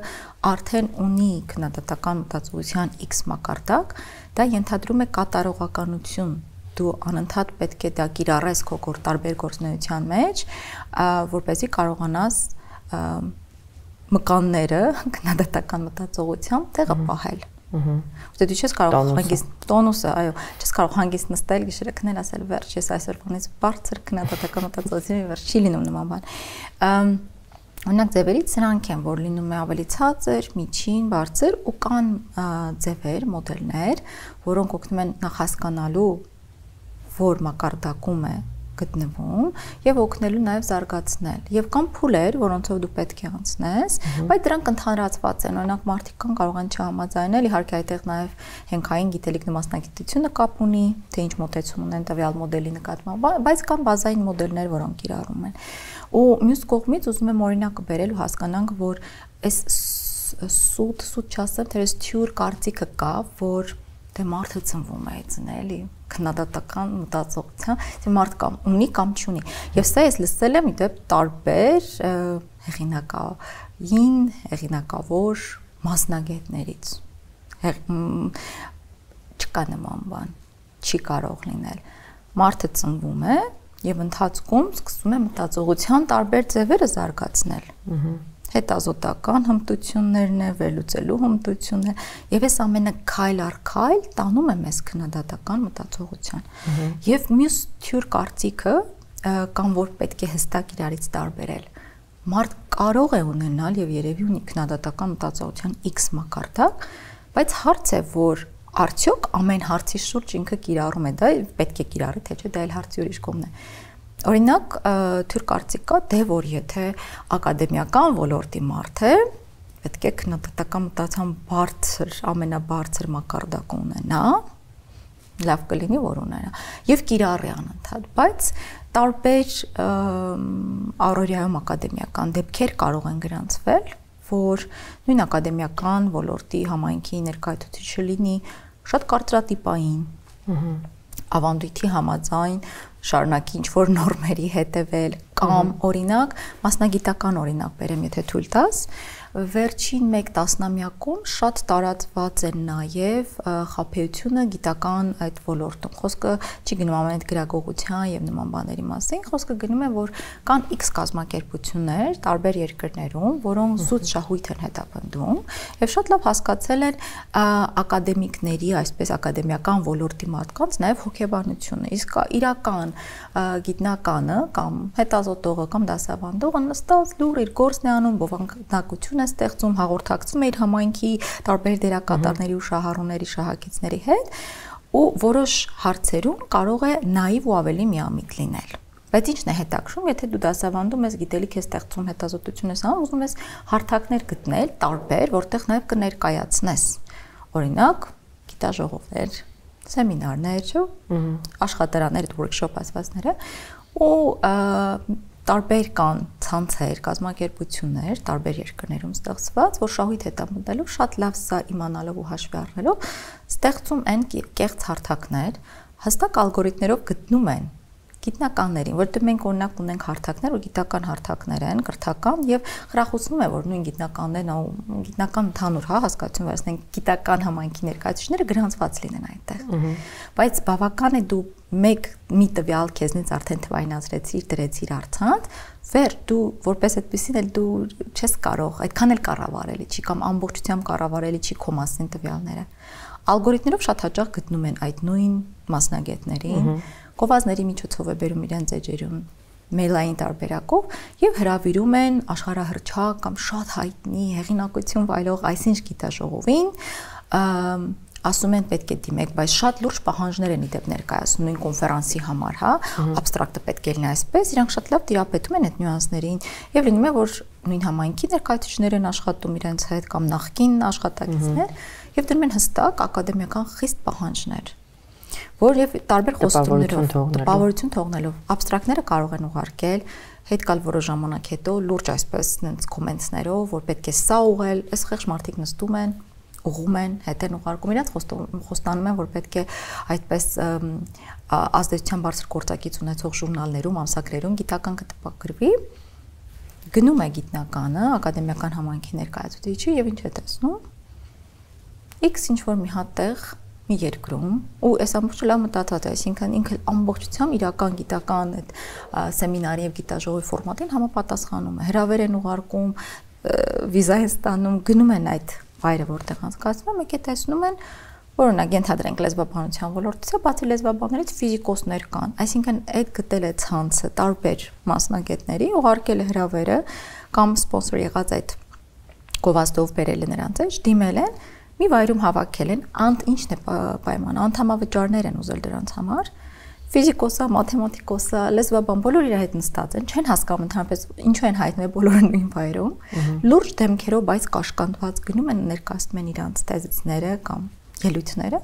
արդեն ունի քննադատական մտածողության X մակարդակ, դա ենթադրում է կատարողականություն։ Դու անընդհատ պետք է դա կիրառես քո տարբեր գործունեության մեջ, որպեսզի կարողանաս մկանները քննադատական մտածողությամբ տեղը պահել։ Դու չես կարող հանգիստ տոնուսը, այո, չես կարող հանգիստ նստել գիշերը քնել ասել վերջ, ես այսօր բանից բարձր քննադատական մտածողություն վերջ չի լինում նման բան։ Օրինակ ձևերից սրանք են, որ լինում է ավելի ցածր, միջին, բարձր ու կան ձևեր, մոդելներ, որոնք օգնում են նախ հասկանալու, որ մակարդակում է գտնվում եւ օգնելու նաեւ զարգացնել եւ կան փուլեր, որոնցով դու պետք է անցնես, բայց դրանք ընդհանրացված են, օրինակ մարդիկ կան կարող են չհամաձայնել, իհարկե այդտեղ նաեւ հենքային գիտելիքն ու մասնագիտությունը կապ ունի, թե ինչ մոտեցում ունեն տվյալ մոդելի նկատմամբ, բայց կան բազային մոդելներ, որոնք կիրառում են։ Ու մյուս կողմից ուզում եմ օրինակը բերել ու հասկանանք, որ այս սուտ չասեմ, թե այս թյուր կարծիքը կա, որ դե մարդը ծնվում է այցն էլի քննադատական մտածողության, թե մարդ կամ ունի կամ չունի։ Եվ սա ես լսել եմ իդեպ տարբեր հեղինակային, հեղինակավոր մասնագետներից։ Չկա նման բան, չի կարող լինել։ Մարդը ծնվում է եւ ընթացքում սկսում է մտածողության տարբեր ձևերը զարգացնել։ Հետազոտական հմտություններն է, վերլուծելու հմտությունն է, եւ այս ամենը քայլ առ քայլ տանում է մեզ քննադատական մտածողության։ Եվ մյուս թյուր կարծիքը կամ որ պետք է հստակ իրարից տարբերել։ Մարդ կարող է ունենալ եւ երևի ունի քննադատական մտածողության X մակարդակ, բայց հարց է, որ արդյոք ամեն հարցի շուրջ ինքը կիրառում է դա, պետք է կիրառի, թե չէ, դա էլ հարցի ուրիշ կողմն է։ Օրինակ, թյուր կարծիք կա, դե որ եթե ակադեմիական ոլորտի մարդ է, պետք է քննադատական մտածողության բարձր, ամենաբարձր մակարդակ ունենա, լավ կլինի որ ունենա եւ կիրառի անընդհատ, բայց տարբեր առօրյայում ակադեմիական դեպքեր կարող են գրանցվել, որ նույն ակադեմիական ոլորտի համայնքի ներկայացուցիչը լինի շատ կարծրատիպային, ավանդույթի համաձայն շարունակի ինչ-որ նորմերի հետևել կամ օրինակ մասնագիտական օրինակ բերեմ, եթե թույլ տաս, վերջին 1 տասնամյակում շատ տարածված է նաև խաբեությունը գիտական այդ ոլորտում։ Խոսքը չի գնում ամեն այդ գրագողության եւ նման բաների մասին, խոսքը գնում է, որ կան X կազմակերպություններ տարբեր երկրներում, որոնք զուտ շահույթ են հետապնդում եւ շատ լավ հասկացել են ակադեմիկների, այսպես ակադեմիական ոլորտի մարդկանց նաև հոգեբանությունը։ Իսկ իրական գիտնականը կամ հետազոտողը կամ դասավանդողը նստած լուր իր գործն է անում, բովանդակություն ստեղծում, հաղորդակցում է իր համայնքի տարբեր դերակատարների ու շահառուների, շահագիծների հետ ու որոշ հարցերում կարող է նաիվ ու ավելի միամիտ լինել։ Բայց ինչն է հետաքրքրում, եթե դու դասավանդում ես, գիտելիք ես ստեղծում, հետազոտություն ես անում, ուզում ես հարթակներ գտնել տարբեր, որտեղ նաև կներկայացնես։ Օրինակ, գիտաժողովներ, սեմինարներ, աշխատարաններ, workshop ասվածները ու տարբեր կան ցանցեր, կազմակերպություններ, տարբեր երկրներում ստեղծված, որ շահույթ հետապնդելով շատ լավ սա իմանալով ու հաշվի առնելով ստեղծում են կեղծ հարթակներ, հստակ ալգորիթմներով գտնում են գիտնականներին, որտեղ մենք օրինակ ունենք հարթակներ, որ գիտական հարթակներ են, կրթական եւ խրախուսվում է, որ նույն գիտնականներն ու գիտնական ընդհանուր հասկացություն վերցնենք, գիտական համայնքի ներկայացուցիչները գրանցված լինեն այնտեղ։ Բայց բավական է դու մի տվյալ քեզնից արդեն թվայնացրեցիր, դրեցիր արցանց, վեր դու որպես այդպեսին էլ դու չես կարող, այդքան էլ կառավարելի չի կամ ամբողջությամբ կառավարելի չի քո մասին տվյալները։ Ալգորիթմներով շատ հաճախ գտնում են այդ նույն մասնագետներին, գովազների միջոցով է բերում իրենց էջերուն մեյլային տարբերակով եւ հրավիրում են աշխարհահռչակ կամ շատ հայտնի հեղինակություն վայելող այսինչ գիտաժողովին, ասում են պետք է դիմեք, բայց շատ լուրջ պահանջներ են իդեպ ներկայացնում նույն կոնֆերանսի համար, հա, абստրակտը պետք է լինի այսպես, իրանք շատ լավ տիրապետում են այդ նյուանսներին եւ լինում է, որ նույն համայնքի ներկայացուցիչներ են աշխատում իրենց հետ կամ նախկին աշխատակիցներ եւ դրում են հստակ ակադեմիական խիստ պահանջներ, որ եւ տարբեր խոստումներով տպավորություն թողնելով абստրակտները կարող են ուղարկել, հետ կալ որոշ ժամանակ հետո լուրջ այսպես նենց կոմենտներով, որ պետք է սա ուղղել, այս խեղճ մարդիկ նստում են ուղում են, հետ են ուղարկում իրաց խոստանում են, որ պետք է այդպես ազդեցության բարձր գործակից ունեցող ժուրնալներում, ամսագրերում գիտական կտպագրվի, գնում է գիտնականը, ակադեմիական համայնքի ներկայացուցիչը եւ ինչ է տեսնում, X ինչ-որ մի հատ տեղ, մի երկրում, ու այս ամբողջը լավ մտածած է, այսինքն ինքը ամբողջությամբ իրական գիտական այդ սեմինարի եւ գիտաժողովի ֆորմատին համապատասխանում է, հրավեր են ուղարկում, վիզա են ստանում, գնում են այդ վայրը, որտեղ անցկացվում է, մեկ է տեսնում են, որ օրինակ ենթադրենք լեզվաբանության ոլորտից է, բացի լեզվաբաններից ֆիզիկոսներ կան, այսինքն այդ գտել է ցանցը տարբեր մասնագետների, ուղարկել է հրավերը կամ սպոնսոր եղած այդ գովազդով բերել է նրանց էջ, դիմել են, մի վայրում հավաքել են, ինչն է պայմանը, անդամավճարներ են ուզել դրանց համար, ֆիզիկոսա, մաթեմատիկոսա, լեզվաբան բոլորը իր հետ նստած են, չեն հասկանում ընդհանրապես ինչու են հայտնվել բոլորը նույն վայրում, լուրջ դեմքերով, բայց կաշկանդված գնում են ներկայացնում են իրանց թեզիսները կամ ելույթները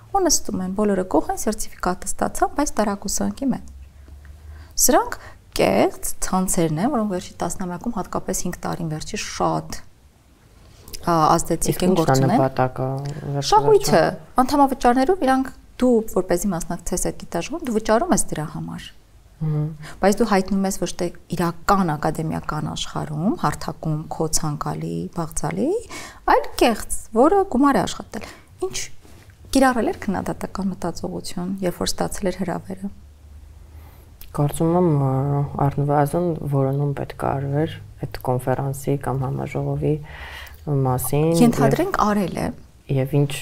ու նստում են, բոլորը կող են, սերտիֆիկատը ստացան, բայց տարակուսանքի մեջ։ Սրանք կեղծ ցանցերն են, որոնք վերջի տասնամյակում հատկապես 5 տարին վերջի շատ ազդեցիկ են գործունել։ Շահույթը, անդամավճարներով իրանք դու որպեսզի մասնակցես այդ գիտաժողովին, դու վճարում ես դրա համար։ Բայց դու հայտնում ես ոչ թե իրական ակադեմիական աշխարհում, հարթակում, քո ցանկալի, բաղձալի, այլ կեղծ, որը գումար է աշխատել։ Ինչ կիրառել էր քննադատական մտածողություն, երբ որ ստացել էր հրավերը։ Կարծում եմ առնվազն որոնում պետք է արվեր այդ կոնֆերանսի կամ համաժողովի մասին։ Ենթադրենք արել է Եվ ինչ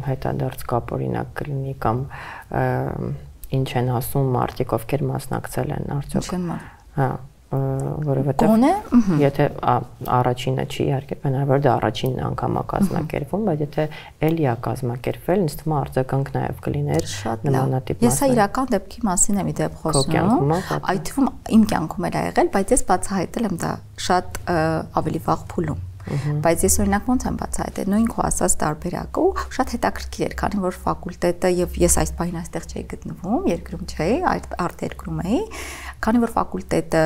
հետադարձ կապ օրինակ կլինի կամ ինչ են ասում մարդիկ, ովքեր մասնակցել են արդյոք։ Հա, որովհետև եթե առաջինը չի իհարկե բնավոր դա առաջին անգամ է կազմակերպվում, բայց եթե էլի է կազմակերպվել, ինձ թվում է արձագանք նաև կլիներ նմանատիպ մասը։ Ես իրական դեպքի մասին եմ իդեպ խոսում, այդ թվում իմ կյանքում էլ ա եղել, բայց ես բացահայտել եմ դա շատ ավելի վաղ փուլում։ Բայց ես օրինակ ոնց եմ բացահայտել նույն քո ասած տարբերակը ու շատ հետաքրքիր էր, քանի որ ֆակուլտետը եւ ես այս բանը այստեղ չէի գտնվում, երկրում չէի, արտերկրում էի, քանի որ ֆակուլտետը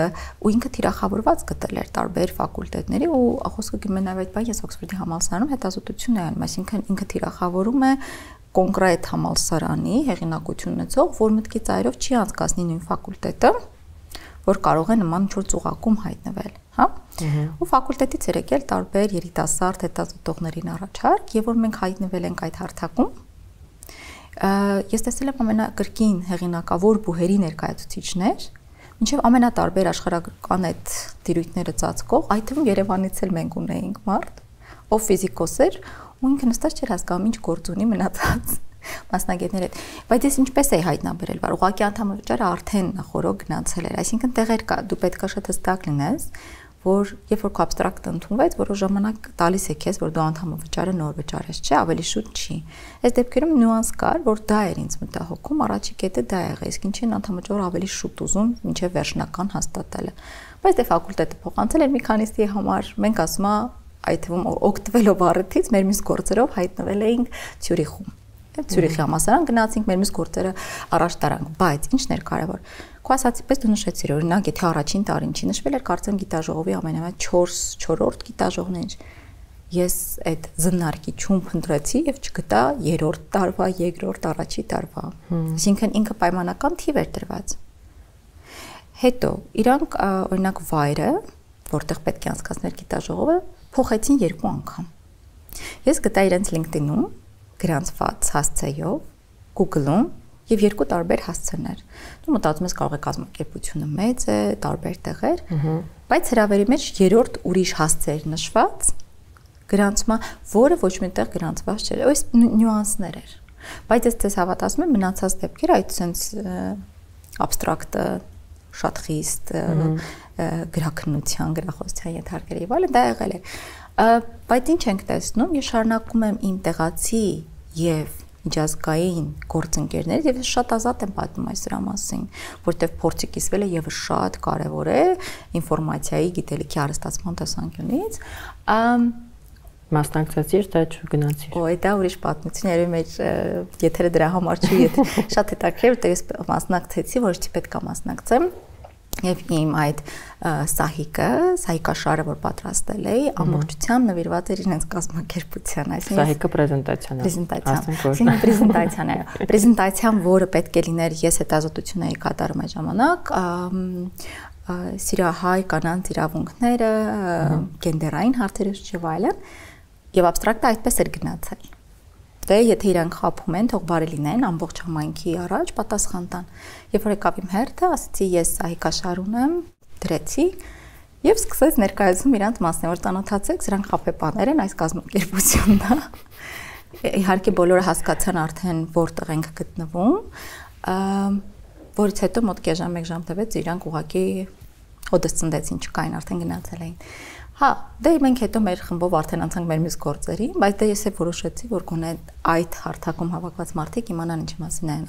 ու ինքը թիրախավորված գտել էր տարբեր ֆակուլտետների ու խոսքը գնում է նաեւ այդ բան ես Օքսֆորդի համալսարանում հետազոտություն եմ անում, այսինքն ինքը թիրախավորում է կոնկրետ համալսարանի հեղինակություն ունեցող, որ մտքի ծայրով չի անցկացնի նույն ֆակուլտետը, որ կարող է նման ինչ-որ ծուղակում հայտնվել, հա? Ու ֆակուլտետից էր եկել տարբեր երիտասարդ հետազոտողներին առաջարկ, եւ որ մենք հայտնվել ենք այդ հարթակում, ես տեսել եմ ամենակրկին հեղինակավոր բուհերի ներկայացուցիչներ, մինչև ամենատարբեր աշխարհական այդ դիրույթները ծածկող, այդ թվում Երևանից էլ մենք ունեինք մարդ, ով ֆիզիկոս էր, ու ինքը նստած չէր հասկանում ինչ գործ ունի մնացած մասնագետների հետ, բայց ես ինչպես էի հայտնաբերել, որ ուղղակի անդամավճարը արդեն նախորդ գնացել էր, այսինքն տեղեր կա, դու պետք է շատ հստակ լինես, որ երբ որ քո абստրակտը ընդունվեց, որոշ ժամանակ տալիս է քեզ, որ դու անդամավճարը նոր վճարես, չէ, ավելի շուտ չի։ Այս դեպքերում նյուանս կար, որ դա էր ինձ մտահոգում, առաջի կետը դա եղավ, իսկ ինչի՞ն անդամավճարը ավելի շուտ ուզում, մինչև վերջնական հաստատելը։ Բայց դե ֆակուլտետը փոխանցել էր մի քանիսի համար, մենք ասում այդ թվում օգտվելով առիթից մեր մյուս գործերով հայտնվել էինք Ցյուրիխում։ Ցյուրիխի համալսարան գնացինք, մեր մյուս գործերը առաջ տարանք, բայց ինչն էր կարևոր։ Քո ասացի պես դու նշեցիր, օրինակ, եթե առաջին տարին չի նշվել էր կարծեմ գիտաժողովի ամենամեծ 4-րդ գիտաժողովն էր։ Ես այդ զննարկիչում փնտրեցի եւ չգտա 3-րդ տարվա, 2-րդ առաջի տարվա։ Այսինքն ինքը պայմանական թիվ էր դրված։ Հետո իրանք օրինակ վայրը, որտեղ պետք է անցկացներ գիտաժողովը, փոխեցին 2 անգամ։ Ես գտա իրենց LinkedIn-ում գրանցված հասցեով, Google-ում եւ 2 տարբեր հասցեներ։ Դու մտածում ես կարող է կազմակերպությունը մեծ է, տարբեր տեղեր, բայց հրավերի մեջ 3-րդ ուրիշ հասցեր նշված գրանցումը, որը ոչ միտեղ գրանցված չէր։ Այս նյուանսներ էր։ Բայց ես ցես հավատացում եմ մնացած դեպքերը այդ sense абստրակտը շատ խիստ գրաքննության, գրախոսության ենթարկեր եւ այլն դա եղել է։ Բայց ինչ ենք տեսնում, ես շարունակում եմ իմ տեղացի եւ միջազգային գործընկերներ եւ ես շատ ազատ եմ պատմում այս դրա մասին, որտեղ փորձի կիսվելը եւս շատ կարեւոր է ինֆորմացիայի գիտելիքի հարստացման տեսանկյունից։ Մասնակցեցիր, թե չգնացիր։ Օ, դա ուրիշ պատմություն էր, մեր եթերը դրա համար չի, եթե շատ հետաքրքիր, որտեղ ես մասնակցեցի, ոչ թե պետք է մասնակցեմ։ Եվ իմ այդ սահիկաշարը, որ պատրաստել էի, ամբողջությամբ նվիրված էր իրենց կազմակերպության, այսինքն սահիկը պրեզենտացիան է, պրեզենտացիան, որը պետք է լիներ, ես հետազոտություն էի կատարում այդ ժամանակ, սիրահայ կանանց իրավունքները, գենդերային հարցերը եւ այլն, եւ абստրակտը այդպես էր գնացել։ Դե եթե իրանք խափում են, թող բարի լինեն, ամբողջ համայնքի առաջ պատասխան տան։ Երբ որ եկավ իմ հերթը, ասացի ես սահիկաշար ունեմ, դրեցի եւ սկսեց ներկայացում իրանց մասն, որ ծանոթացեք, սրանք խափեպաներ են, այս կազմակերպությունն է։ Իհարկե բոլորը հասկացան արդեն որտեղ ենք գտնվում, որից հետո մոտ կես ժամ, 1 ժամ տևեց, իրանք ուղղակի հոդս ծնդեցին, չկային, արդեն գնացել էին։ Հա, դե մենք հետո մեր խմբով արդեն անցանք մեր մյուս գործերի, բայց դե ես էլ որոշեցի, որ գոնե այդ հարթակում հավաքված մարդիկ իմանան ինչի մասին են,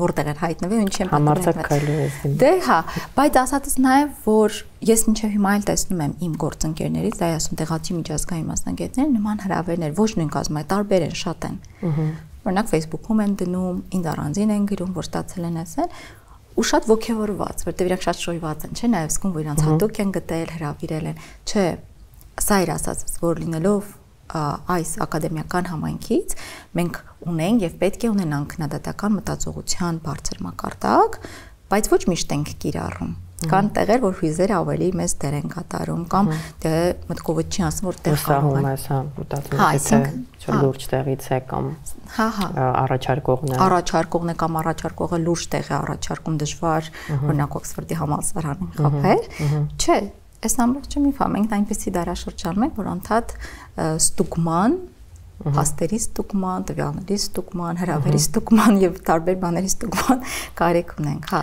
որտեղ են հայտնվել, ինչ են համարձակալի։ Դե հա, բայց ասածս նաև, որ ես մինչև հիմա էլ տեսնում եմ իմ գործընկերներից, դա ասում տեղացի միջազգային մասնագետներ, նման հրավերներ, ոչ նույն կազմի, տարբեր են, շատ են։ Օրինակ Facebook-ում են դնում, ինձ առանձին են գրում, որ ստացել են ասել, ու շատ ոգևորված, որտեղ իրանք շատ շոյված են, չէ՞, նաև զգում, որ իրանք հատուկ են գտել, հրավիրել են, չէ։ Սա էր ասածս, որ լինելով այս ակադեմիական համայնքից մենք ունենք եւ պետք է ունենանք քննադատական մտածողության բարձր մակարդակ, բայց ոչ միշտ ենք կիրառում։ Կան տեղեր, որ հույզերը ավելի մեծ դեր են կատարում, կամ դե մտքովը չի ասում, որ տեղ կարող է, հա, մտածում, թե լուրջ տեղից է կամ առաջարկողն է կամ առաջարկողը լուրջ տեղ է առաջարկում, դժվար, օրինակ Օքսֆորդի համալսարանը խփել, չէ։ Այս ամբողջը միֆ է, մենք այնպեսի դարաշրջանում ենք, որ անդադ ստուգման, փաստերի ստուգման, տվյալների ստուգման, հրավերի ստուգման եւ տարբեր բաների ստուգման կարիք ունենք, հա։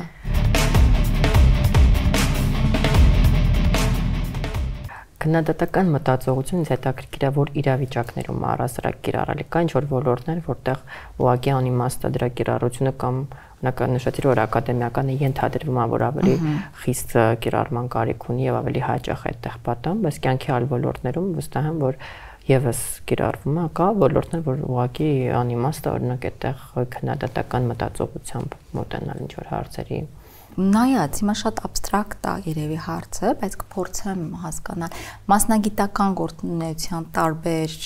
Քննադատական մտածողությունից հետաքրքիր է, որ իրավիճակներում առասարակ կիրառելի կա ինչ-որ ոլորտներ, որտեղ ուղղակի անիմաստ է դրա կիրառությունը կամ նշեցիր, որ ակադեմիականը ենթադրվում է, որ ավելի խիստ կիրառման կարիք ունի եւ ավելի հաճախ այդտեղ պատամ, բայց կյանքի այլ ոլորտներում վստահ եմ, որ եւս կիրառվում է, կա ոլորտներ, որ ուղղակի անիմաստ է, օրինակ այդտեղ քննադատական մտածողությամբ մոտենալ ինչ որ հարցերի։ Նայած, հիմա շատ абստրակտ է երևի հարցը, բայց կփորձեմ հասկանալ մասնագիտական գործունեության տարբեր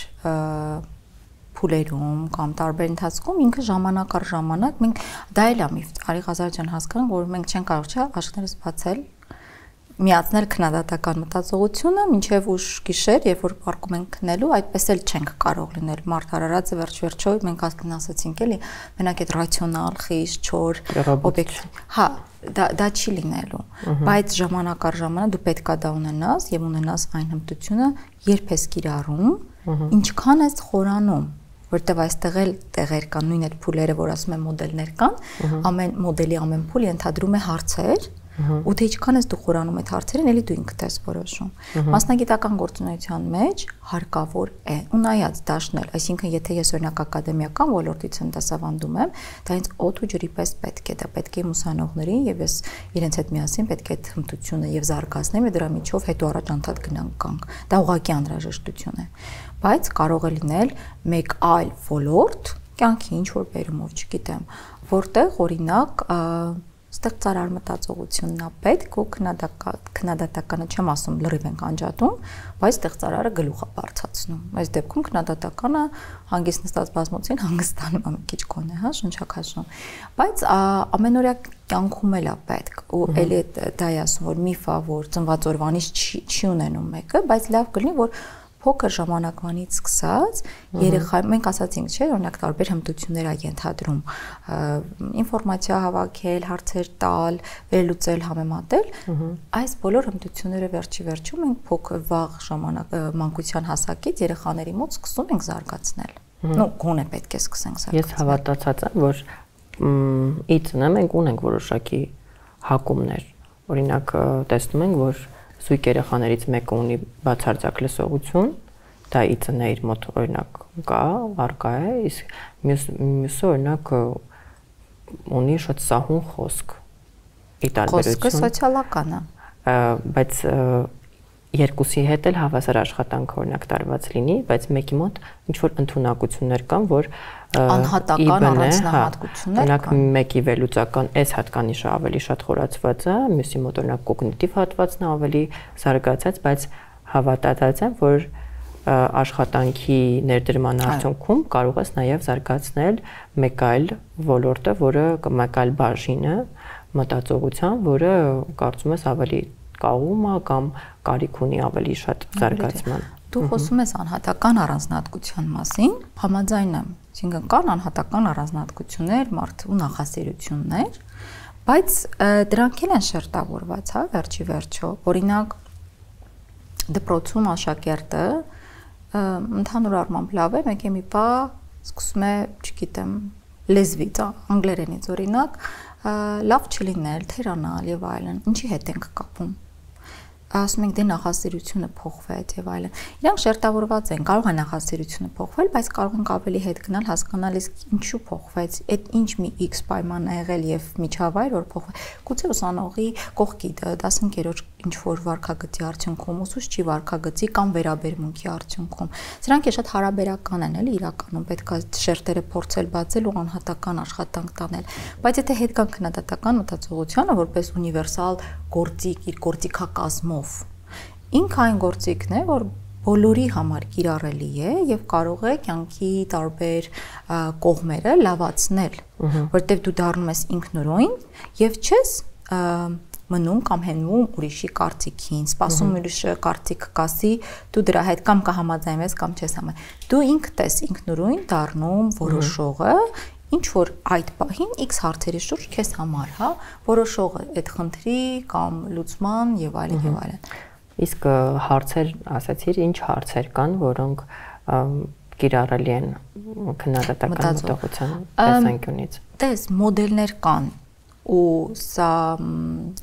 փուլերում կամ տարբեր ընթացքում ինքը ժամանակ առ ժամանակ մենք դա էլ է միֆ, Արի Ղազարյան հասկանանք, որ մենք չենք կարող աշխատանքներս բացել, միացնել քննադատական մտածողությունը մինչև ուշ գիշեր, երբ որ պարկում ենք քննելու, այդպես էլ չենք կարող լինել։ Մարդ արարածը վերջ-վերջո մենք ասացինք էլի, մենակ այդ ռացիոնալ, խիստ, չոր, օբյեկտիվ։ Հա, դա չի լինելու, բայց ժամանակ առ ժամանակ դու պետք է դա ունենաս եւ ունենաս այն հմտությունը, երբ ես կիրառում, ինչքան ես խորանում, որտեվ այստեղ էլ տեղեր կան, նույն այդ փուլերը, որ ասում են մոդելներ կան, ամեն մոդելի ամեն փուլ ենթադրում է հարցեր, ու թե ինչքան ես դու խորանում այդ հարցերին, էլի դու ինքդ ես որոշում։ Մասնագիտական գործունեության մեջ հարկավոր է ու նայած դաշնել, այսինքն եթե ես օրինակ ակադեմիական ոլորտից եմ դասավանդում եմ, դա ինձ օդ ու ջրի պես պետք է, դա պետք է ուսանողներին եւ ես իրենց հետ միասին պետք է այդ հմտությունը եւ զարգացնեմ, դրա միջով հետո առաջ անդադ գնանք կանք։ Դա ուղղակի անհրաժեշտություն է։ Բայց կարող է լինել մեկ այլ ոլորտ, կյանքի ինչ որ բերումով, չգիտեմ, որտեղ օրինակ ստեղծարար մտածողությունն է պետք ու քննադատականը չեմ ասում լրիվ ենք անջատում, բայց ստեղծարարը գլուխ է բարձրացնում։ Այս դեպքում քննադատականը հանգիստ նստած բազմոցին հանգստանում է մի քիչ կոնե, հա, շնչակաշում։ Բայց ամենօրյա կյանքում էլ է պետք ու էլի դա է ասում, որ միֆ է, որ ծնված օրվանից չի ունենում մեկը, բայց լավ կլինի, որ փոքր ժամանակվանից սկսած երեխա մենք ասացինք, չէ՞, օրինակ տարբեր հմտություններ ա ենթադրում ինֆորմացիա հավաքել, հարցեր տալ, վերլուծել, համեմատել, այս բոլոր հմտությունները վերջի վերջում մենք փոքր վաղ ժամանակ մանկության հասակից երեխաների մոտ սկսում ենք զարգացնել։ Ну, գոնե պետք է սկսենք զարգացնել։ Ես հավատացած եմ, որ իցնը մենք ունենք որոշակի հակումներ։ Օրինակ տեսնում ենք, որ սույկ երեխաներից մեկը ունի բացարձակ լսողություն, դա իծնը իր մոտ օրինակ կա, առկա է, իսկ մյուսը օրինակ ունի շատ սահուն խոսք։ Խոսքը սոցիալական է։ Բայց երկուսի հետ էլ հավասար աշխատանք օրինակ տարված լինի, բայց մեկի մոտ ինչ որ ընդունակություններ կան, որ անհատական առանձնահատկություններ կան։ Օրինակ մեկի վերլուծական այս հատկանիշը ավելի շատ խորացված է, մյուսի մոտ օրինակ կոգնիտիվ հատվածն է ավելի զարգացած, բայց հավատացած եմ, որ աշխատանքի ներդրման արդյունքում կարող ես նաև զարգացնել մեկ այլ ոլորտը, որը մեկ այլ բաժինը մտածողության, որը կարծում ես ավելի կաղում է կամ կարիք ունի ավելի շատ զարգացման։ Դու խոսում ես անհատական առանձնահատկության մասին, համաձայն եմ, այսինքն կան անհատական առանձնահատկություններ, մարդու նախասիրություններ, բայց դրանք էլ են շերտավորված, հա, վերջի վերջո։ Օրինակ դպրոցում աշակերտը ընդհանուր առմամբ լավ է, մեկ է մի բա սկսում է, չգիտեմ, լեզվից, անգլերենից օրինակ, լավ չլինել, թերանալ եւ այլն, ինչի հետ ենք կապում։ Ասում ենք դե նախասիրությունը փոխվեց եւ այլն։ Իրանք շերտավորված են, կարող է նախասիրությունը փոխվել, բայց կարող ենք ավելի հետ գնալ, հասկանալ իսկ ինչու փոխվեց, այդ ինչ մի X պայման է եղել եւ միջավայր որ փոխվել։ Գուցե ուսանողի կողքի 15-րդ ինչ որ վարքագծի արդյունքում, ուսուցչի վարքագծի կամ վերաբերմունքի արդյունքում։ Սրանք է շատ հարաբերական են, էլի իրականում պետք է շերտերը փորձել բացել ու անհատական աշխատանք տանել։ Բայց եթե հետ կան քննադատական մտածողությանը որպես ունիվերսալ գործիք, իր գործիքակազմով, ինքը այն գործիքն է, որ բոլորի համար կիրառելի է եւ կարող է կյանքի տարբեր կողմերը լավացնել, որտեղ դու դառնում ես ինքնուրույն եւ չես մնում կամ հենվում ուրիշի կարծիքին, սպասում ուրիշը կարծիք կասի, դու դրա հետ կամ կհամաձայնես կամ չես համաձայն։ Դու ինքդ ես ինքնուրույն դառնում որոշողը, ինչ որ այդ պահին X հարցերի շուրջ քեզ համար, հա, որոշողը այդ խնդրի կամ լուծման եւ այլն եւ այլն։ Իսկ հարցեր, ասացիր, ինչ հարցեր կան, որոնք կիրառելի են քննադատական մտածողության տեսանկյունից։ Տես մոդելներ կան ու սա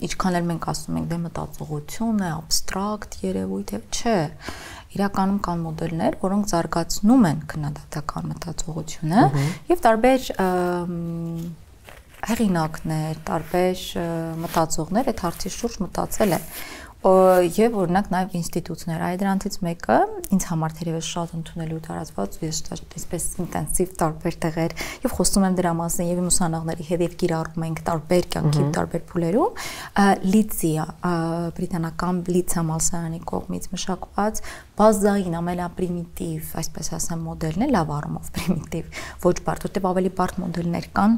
ինչքան էլ մենք ասում ենք դե մտածողություն է, абստրակտ երևույթ է, չէ։ Իրականում կան մոդելներ, որոնք զարգացնում են քննադատական մտածողությունը եւ տարբեր հեղինակներ, տարբեր մտածողներ այդ հարցի շուրջ մտածել են եւ օրինակ նաեւ ինստիտուտներ, այ դրանցից մեկը ինձ համար թերևս շատ ընդունելու տարածված ու ես այսպես ինտենսիվ տարբեր տեղեր եւ խոսում եմ դրա մասին եւ իմ ուսանողների հետ եւ կիրառում ենք տարբեր կյանքի տարբեր փուլերում լիցիա բրիտանական լիցիա համալսարանի կողմից մշակված բազային ամենապրիմիտիվ, այսպես ասեմ, մոդելն է, լավ առումով պրիմիտիվ, ոչ բարդ, որտեղ ավելի բարդ մոդելներ կան,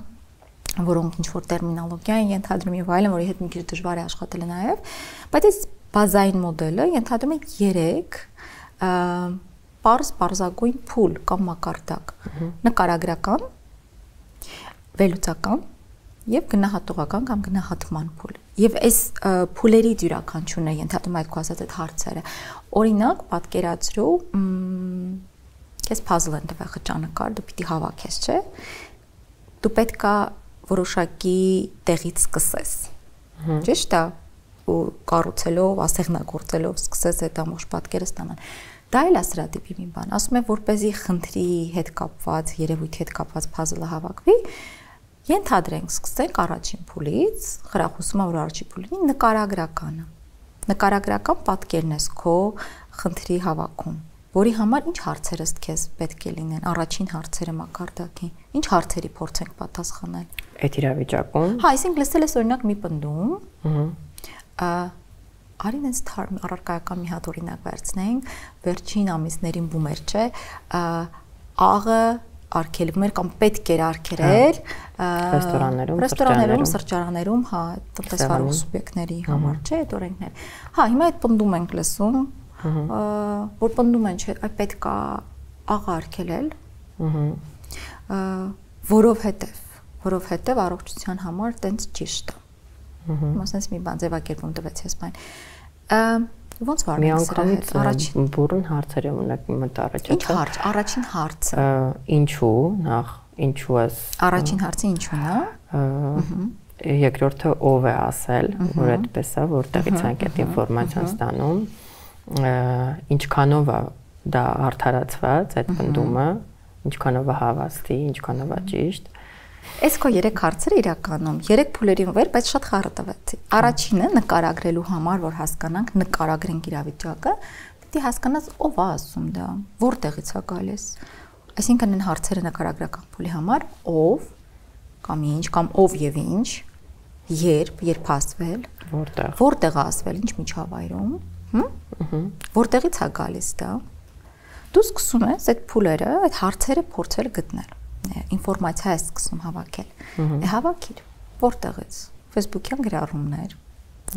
որոնք ինչ-որ տերմինոլոգիա են ենթադրում եւ այլն, որի հետ մի քիչ դժվար է աշխատել նաեւ, բայց այս բազային մոդելը ենթադրում է 3 պարզագույն փուլ կամ մակարդակ՝ նկարագրական, վերլուծական եւ գնահատողական կամ գնահատման փուլ։ Եվ այս փուլերից յուրաքանչյուրն է ենթադրում այդ քո ասած այդ հարցերը։ Օրինակ, պատկերացրու, քեզ puzzle են տվել խճանկար, դու պիտի հավաքես, չէ՞։ Դու պետք է որոշակի տեղից սկսես։ Ճիշտ է։ Ու կառուցելով, ասեղնագործելով սկսես այդ ամբողջ պատկերը ստանալ։ Դա էլ է սրա տիպի մի բան։ Ասում եմ, որպեսզի խնդրի հետ կապված, երևույթի հետ կապված puzzle-ը հավաքվի, ենթադրենք, սկսենք առաջին փուլից, խրախուսումը, որ առաջին փուլին նկարագրականը։ Նկարագրական պատկերն է քո խնդրի հավաքում, որի համար ինչ հարցեր ըստ քեզ պետք է լինեն, առաջին հարցերը մակարդակի, ինչ հարցերի փորձենք պատասխանել։ Այդ իրավիճակում։ Հա, այսինքն լսել ես օրինակ մի պնդում, արին այս թարմ առարկայական մի հատ օրինակ վերցնենք, վերջին ամիսներին բումեր, չէ, աղը արգելվում էր կամ պետք էր արգելել ռեստորաններում, սրճարաններում, հա, տնտեսվարող սուբյեկտների համար, չէ, այդ օրենքներ։ Հա, հիմա այդ պնդում ենք լսում, որ պնդում են, չէ, պետք է աղը արգելել, որովհետև առողջության համար տենց ճիշտ է։ Մասնից մի բան ձևակերպում տվեց ես բան։ Ոնց վարվենք սրա հետ առաջին բուրըն հարցերը ունեք մտարաճ։ Ինչ հարց, առաջին հարցը։ Ինչու, նախ ինչու ես։ Առաջին հարցը ինչու՞ն է։ Երկրորդը ով է ասել, որ այդպես է, որտեղից ենք այդ ինֆորմացիան ստանում, ինչքանով է դա արդարացված այդ պնդումը, ինչքանով է հավաստի, ինչքանով է ճիշտ։ Այս քո 3 հարցերը իրականում 3 փուլերին վեր, բայց շատ խառը տվեցի։ Առաջինը նկարագրելու համար, որ հասկանանք, նկարագրենք իրավիճակը, պիտի հասկանաս ով է ասում դա, որտեղից է գալիս։ Այսինքն այն հարցերը նկարագրական փուլի համար ով կամ ինչ կամ ով եւ ինչ, երբ ասվել, որտեղ է ասվել, ինչ միջավայրում, որտեղից է գալիս դա։ Դու սկսում ես այդ փուլերը, այդ հարցերը փորձել գտնել։ Ինֆորմացիա է սկսում հավաքել։ Հավաքիր, որտեղից։ Facebook-յան գրառումներ,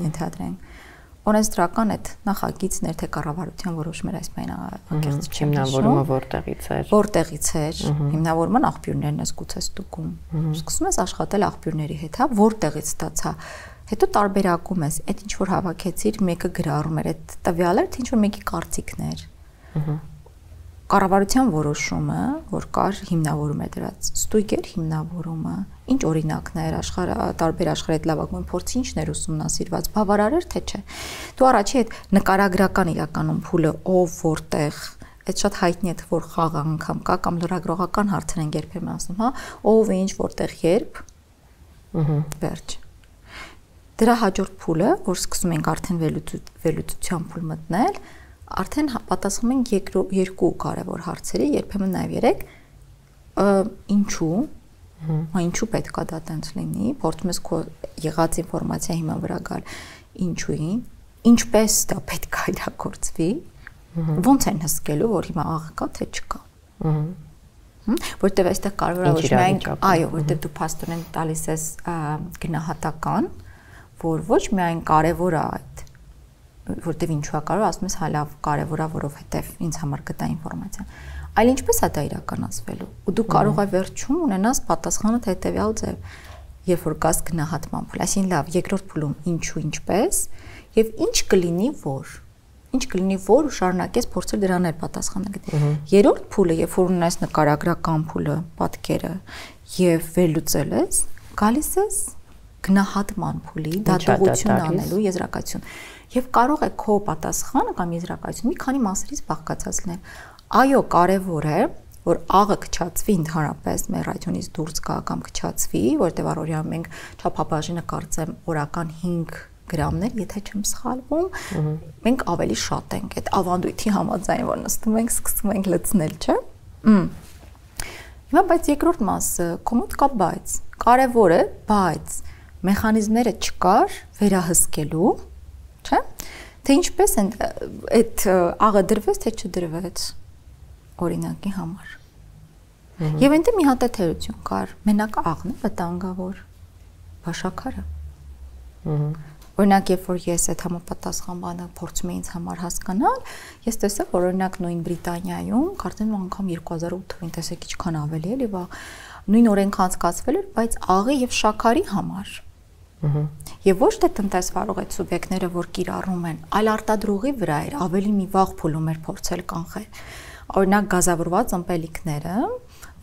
ենթադրենք։ Օրենսդրական այդ նախագիծներ թե կառավարության որոշումներ այս բանը անկեղծ չեմ հիմնավորումը որտեղից էր։ Որտեղից էր։ Հիմնավորման աղբյուրներն ես գուցե ստուգում։ Սկսում ես աշխատել աղբյուրների հետ, հա, որտեղից ստացա։ Հետո տարբերակում ես, այդ ինչ որ հավաքեցիր, մեկը գրառում էր, այդ տվյալը, թե ինչ որ մեկի կարծիքներ։ Կառավարության որոշումը, որ կար հիմնավորում է դրած, ստույգեր հիմնավորումը, ինչ օրինակներ տարբեր աշխարհի այդ լավագույն փորձի ինչներ ուսումնասիրված, բավարար էր թե չէ։ Դու առաջի այդ նկարագրական իրականում փուլը ով որտեղ, այդ շատ հայտնի է որ խաղ անգամ կա կամ լրագրողական հարցեր են երբեմն ասում, հա, ով ինչ որտեղ երբ, վերջ։ Դրա հաջորդ փուլը, որ սկսում ենք արդեն վերլուծության փուլ մտնել, արդեն պատասխանում ենք երկու կարևոր հարցերի, երբեմն նաև 3, ինչու, ինչու պետք է դա տենց լինի, փորձում ես քո եղած ինֆորմացիա հիման վրա գալ, ինչուին, ինչպես դա պետք է իրագործվի, ոնց են հսկելու, որ հիմա աղը կա, թե չկա։ Որտեվ այստեղ կարևոր է ոչ միայն, այո, որտեվ դու փաստորեն տալիս ես գնահատական, որ ոչ միայն կարևոր է այդ որտեվ ինչու է կարող ասում ես հա լավ կարևոր է որովհետև ինձ համար գտա ինֆորմացիան այլ ինչպես է դա իրականացվելու ու դու կարող ես վերջում ունենաս պատասխանը թե հետեւյալ ձև երբ որ գաս գնահատման փուլ այսինքն լավ երկրորդ փուլում ինչու ինչպես եւ ինչ կլինի որ ու շարունակես փորձել դրան էլ պատասխանը գտնել երրորդ փուլը երբ որ ունես նկարագրական փուլը պատկերը եւ վերլուծել ես գալիս ես գնահատման փուլի դատողություն անելու եզրակացություն Եվ կարող է քո պատասխանը կամ եզրակացությունը մի քանի մասերից բաղկացած լինել։ Այո, կարևոր է, որ աղը քչացվի ընդհանրապես մեր ռադիոնից դուրս գա կամ քչացվի, որտեղ առօրյա մենք չափաբաժինը կարծեմ օրական 5 գրամներ, եթե չեմ սխալվում, մենք ավելի շատ ենք այդ ավանդույթի համաձայն, որ նստում ենք, սկսում ենք լցնել, չէ՞։ Հիմա բայց երկրորդ մասը, կոմոդ կա բայց, կարևոր է, բայց մեխանիզմները չկար վերահսկելու, չէ՞։ Թե ինչպես են այդ աղը դրվեց, թե չդրվեց օրինակի համար։ Եվ այնտեղ մի հատ թերություն կար, մենակ աղն է վտանգավոր, բաշաքարը։ Օրինակ, երբ որ ես այդ համապատասխան բանը փորձում եմ ինձ համար հասկանալ, ես տեսա, որ օրինակ նույն Բրիտանիայում, կարծեմ անգամ 2008 թվականին տեսեք ինչքան ավելի էլի, նույն օրենք անցկացվել էր, բայց աղի եւ շաքարի համար։ Եվ ոչ թե տնտեսվարող այդ սուբյեկտները, որ կիրառում են, այլ արտադրողի վրա էր, ավելի մի վաղ փուլում էր փորձել կանխել։ Օրինակ գազավորված ըմպելիքները,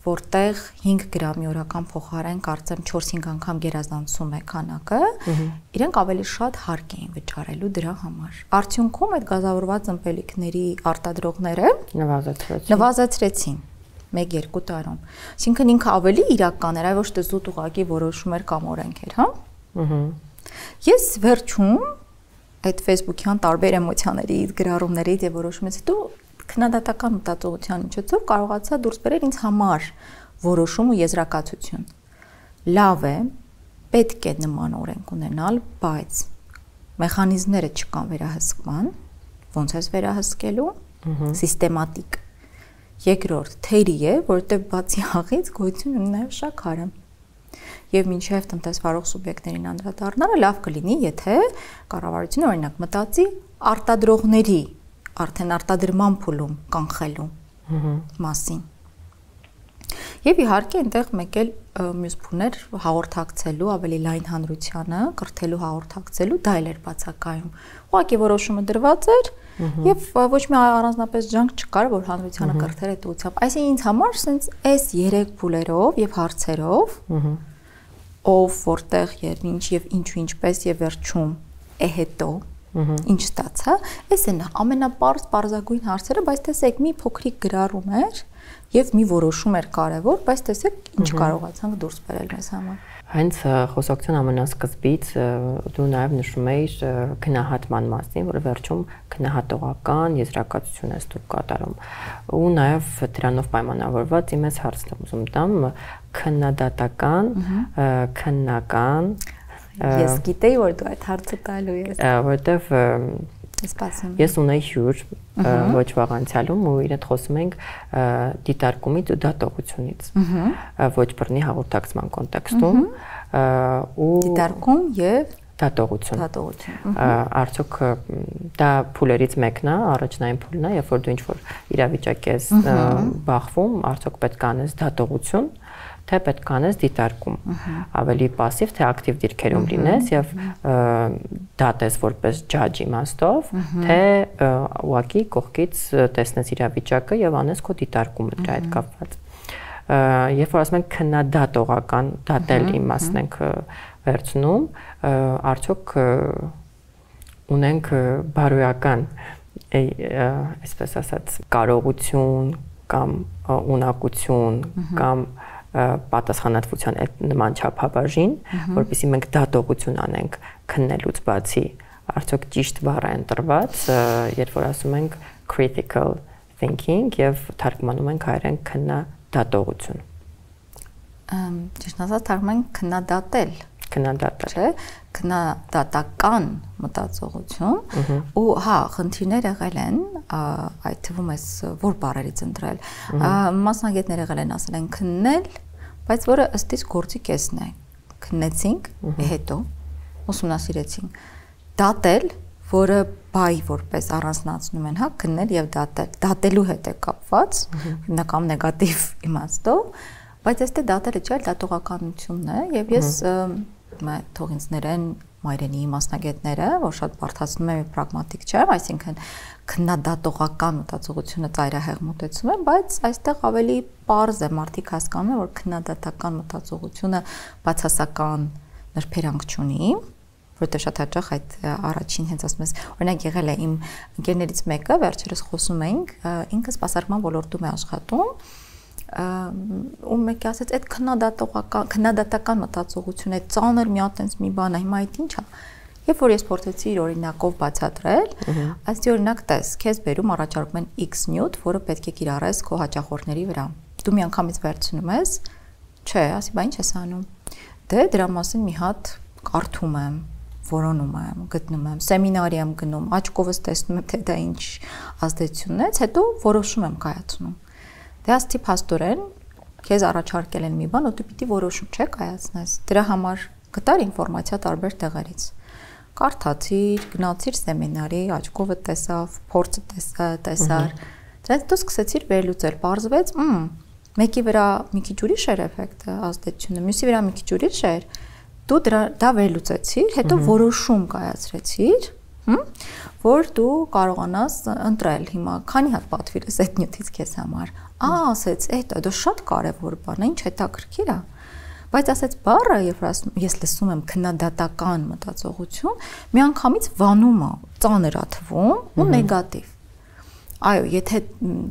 որտեղ 5 գրամի օրական փոխարեն կարծեմ 4-5 անգամ գերազանցում է քանակը, իրենք ավելի շատ հարկ էին վճարելու դրա համար։ Արդյունքում այդ գազավորված ըմպելիքների արտադրողները նվազեցրեցին 1-2 տարում։ Այսինքն ինքը ավելի իրական էր, այլ ոչ թե զուտ ուղղակի որոշում էր կամ օրենք էր, հա։ Ես վերջում այդ Facebook-յան տարբեր էմոցիաների, գրառումներից եւ որոշումից հետո քննադատական մտածողության միջոցով կարողացա դուրս բերել ինձ համար որոշում ու եզրակացություն։ Լավ է, պետք է նման օրենք ունենալ, բայց մեխանիզմները չկան վերահսկման, ոնց է վերահսկելու, սիստեմատիկ։ Երկրորդ, թերի է, որտեղ բացի աղից գոյություն ունի նաեւ շաքարը։ Եվ մինչև տնտեսվարող սուբյեկտներին անդրադառնալը լավ կլինի, եթե կառավարությունը օրինակ մտածի արտադրողների արդեն արտադրման փուլում կանխելու մասին։ Եվ իհարկե այնտեղ մեկ էլ մյուս փուլներ հաղորդակցելու ավելի լայն հանրությանը, կրթելու հաղորդակցելու, դա էլ էր բացակայում։ Ուղղակի որոշումը դրված էր եւ ոչ մի առանձնապես ջանք չկար, որ հանրությանը կրթեր այդ ուղղությամբ։ Այսինքն ինձ համար sense այս 3 փուլերով եւ հարցերով ով որտեղ եւ ինչ եւ ինչու ինչպես եւ վերջում է հետո ինչ ստացա, այս են ամենապարզագույն հարցերը, բայց տեսեք մի փոքրիկ գրառում էր եւ մի որոշում էր կարեւոր, բայց տեսեք ինչ կարողացանք դուրս բերել մեզ համար։ Հենց խոսակցության ամենասկզբից դու նաև նշում էիր քննահատման մասին, որը վերջում քննահատողական եզրակացություն ես դու կատարում։ Ու նաև դրանով պայմանավորված իմ ես հարցն եմ ուզում տամ քննադատական, քննական Ես գիտեի, որ դու այդ հարցը տալու ես։ Որտեվ ես ունեի հյուր ոչ վաղ անցյալում ու իրեն խոսում ենք դիտարկումից ու դատողությունից ոչ բռնի հաղորդակցման կոնտեքստում ու դիտարկում եւ դատողություն արդյոք դա փուլերից մեկն է առաջնային փուլն է երբ որ դու ինչ որ իրավիճակ ես բախվում արդյոք պետք է անես դատողություն թե պետք է անես դիտարկում ավելի пассив թե ակտիվ դիրքերում լինես եւ դատես որպես ջաջ իմաստով թե ուղղակի կողքից տեսնես իրավիճակը եւ անես քո դիտարկումը դրա հետ կապված երբ որ ասում ենք քննադատողական դատել իմաստն ենք վերցնում արդյոք ունենք բարոյական այսպես ասած կարողություն կամ ունակություն կամ պատասխանատվության այդ նման չափաբաժին, որպեսզի մենք դատողություն անենք քննելուց բացի, արդյոք ճիշտ բառ է ընտրված, երբ որ ասում ենք critical thinking եւ թարգմանում ենք հայերեն քննադատողություն։ Ճիշտ ասած թարգմանում ենք քննադատել, չէ՞, քննադատական մտածողություն ու հա խնդիրներ եղել են այդ թվում էս որ բառերից ընտրել մասնագետներ եղել են ասել են քննել բայց որը ըստ իս գործի կեսն է քննեցինք հետո ուսումնասիրեցինք դատել որը բայ որպես առանձնացնում են հա քննել եւ դատելու հետ է կապված հիմնական նեգատիվ իմաստով բայց այստեղ դատելը չէ դատողականությունն է եւ ես թող ինձ ներեն մայրենի մասնագետները, որ շատ բարդացնում են պրագմատիկ չեմ, այսինքն քննադատողական մտածողությունը ծայրահեղ մոտեցում են, բայց այստեղ ավելի պարզ է մարդիկ հասկանում են, որ քննադատական մտածողությունը բացասական նրբերանգ չունի, որովհետև շատ հաճախ այդ առաջին հենց ասում ես, օրինակ եղել է իմ ընկերներից մեկը, վերջերս խոսում էինք, ինքը սպասարկման ոլորտում է աշխատում ու մեկը ասեց այդ քննադատական մտածողություն, այդ ծանր մի հատ մի բան է, հիմա այդ ի՞նչ է։ Երբ որ ես փորձեցի իր օրինակով բացատրել, այսի օրինակ տես, քեզ բերում առաջարկում են X նյութ, որը պետք է կիրառես քո հաճախորդների վրա։ Դու միանգամից վերցնում ես, չէ, ասի, բա ինչ ես անում։ Դե դրա մասին մի հատ կարդում եմ, որոնում եմ, գտնում եմ, սեմինարի եմ գնում, աչքովս տեսնում եմ, թե դա ինչ ազդեցություն ունեց, հետո որոշում եմ կայացնում։ Դե ասի փաստորեն, քեզ առաջարկել են մի բան, ու դու պիտի որոշում չէ կայացնես։ Դրա համար գտար ինֆորմացիա տարբեր տեղերից։ Կարդացիր, գնացիր սեմինարի, աչքովը տեսավ, փորձը տեսար։ Դրանից դու սկսեցիր վերլուծել, պարզվեց, մեկի վրա մի քիչ ուրիշ էր էֆեկտը, ազդեցությունը, մյուսի վրա մի քիչ ուրիշ էր։ Դու դա վերլուծեցիր, հետո որոշում կայացրեցիր, որ դու կարողանաս ընտրել հիմա քանի հատ պատվիրես այդ նյութից քեզ համար։ Ասեց, դա շատ կարևոր բան է, ինչ հետաքրքիր է։ Բայց ասեց բառը, երբ ես լսում եմ քննադատական մտածողություն, միանգամից վանում է, ծանր է թվում ու նեգատիվ։ Այո, եթե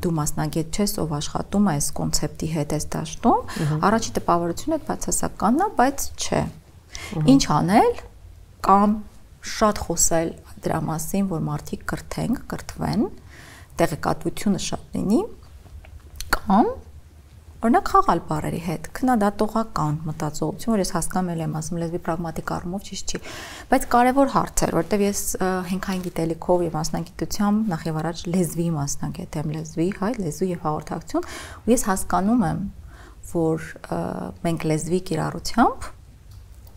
դու մասնագետ չես, ով աշխատում է այս կոնցեպտի հետ, այս դաշտում, առաջի տպավորությունը բացասականն է, բայց չէ։ Ինչ անել կամ շատ խոսել դրա մասին, որ մարդիկ կրթվեն, տեղեկատվությունը շատ լինի, կամ օրինակ խաղալ բառերի հետ, քննադատողական մտածողություն, որ ես հասկանում եմ ասում լեզվի պրագմատիկ առումով ճիշտ չի, բայց կարևոր հարց էր, որտեղ ես հենքային գիտելիքով եւ մասնագիտությամբ նախ եւ առաջ լեզվի մասնագետ եմ, լեզվի եւ հաղորդակցություն, ու ես հասկանում եմ, որ մենք լեզվի կիրառությամբ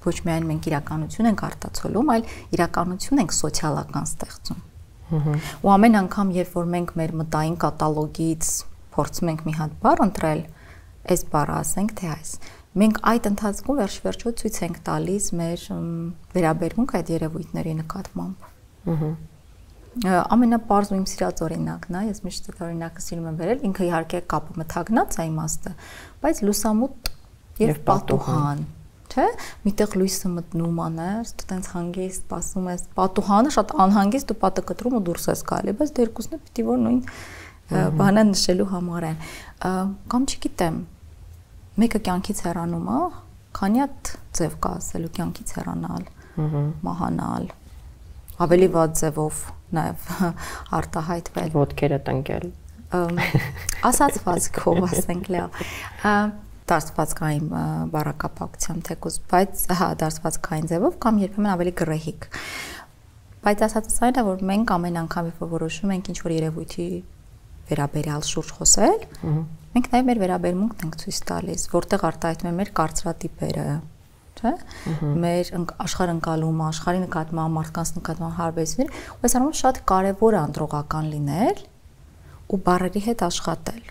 ոչ միայն մենք իրականություն ենք արտացոլում, այլ իրականություն ենք սոցիալական ստեղծում։ Ու ամեն անգամ, երբ որ մենք մեր մտային կատալոգից փորձում ենք մի հատ բառ ընտրել, այս բառը ասենք թե այս, մենք այդ ընթացքում վերջ-վերջո ցույց ենք տալիս մեր վերաբերմունքը այդ երևույթների նկատմամբ։ Ամենապարզ ու իմ սիրած օրինակն է, ես միշտ այդ օրինակը սիրում եմ վերել, ինքը իհարկե կապը մթագնած է իմաստը, բայց լուսամուտ եւ պատուհան, չէ՞, միտեղ լույսը մտնում աներ, դու տենց հանգիստ սպասում ես, պատուհանը շատ անհանգիստ դու պատը կտրում ու դուրս ես գալի, բայց դե երկուսն է պիտի որ նույն բանը նշելու համար են, կամ չգիտեմ, մեկը կյանքից հեռանում է, քանի հատ ձև կա ասելու կյանքից հեռանալ, մահանալ, ավելի վատ ձևով նաև արտահայտվել, ոտքերը տնկել, ասացվածքով ասենք լավ, դարձվածքային բառակապակցությամբ թեկուզ, բայց դարձվածքային ձևով կամ երբեմն ավելի գրեհիկ, բայց ասածս այն է, որ մենք ամեն անգամ երբ որոշում ենք ինչ-որ երևույթի վերաբերյալ շուրջ խոսել, մենք նաև մեր վերաբերմունքն ենք ցույց տալիս, որտեղ արտահայտվում է մեր կարծրատիպերը, չէ՞, մեր աշխարհընկալումը, աշխարհի նկատմամբ, մարդկանց նկատմամբ հարաբերությունները, ու այս առումով շատ կարևոր է անդրողական լինել ու բառերի հետ աշխատել։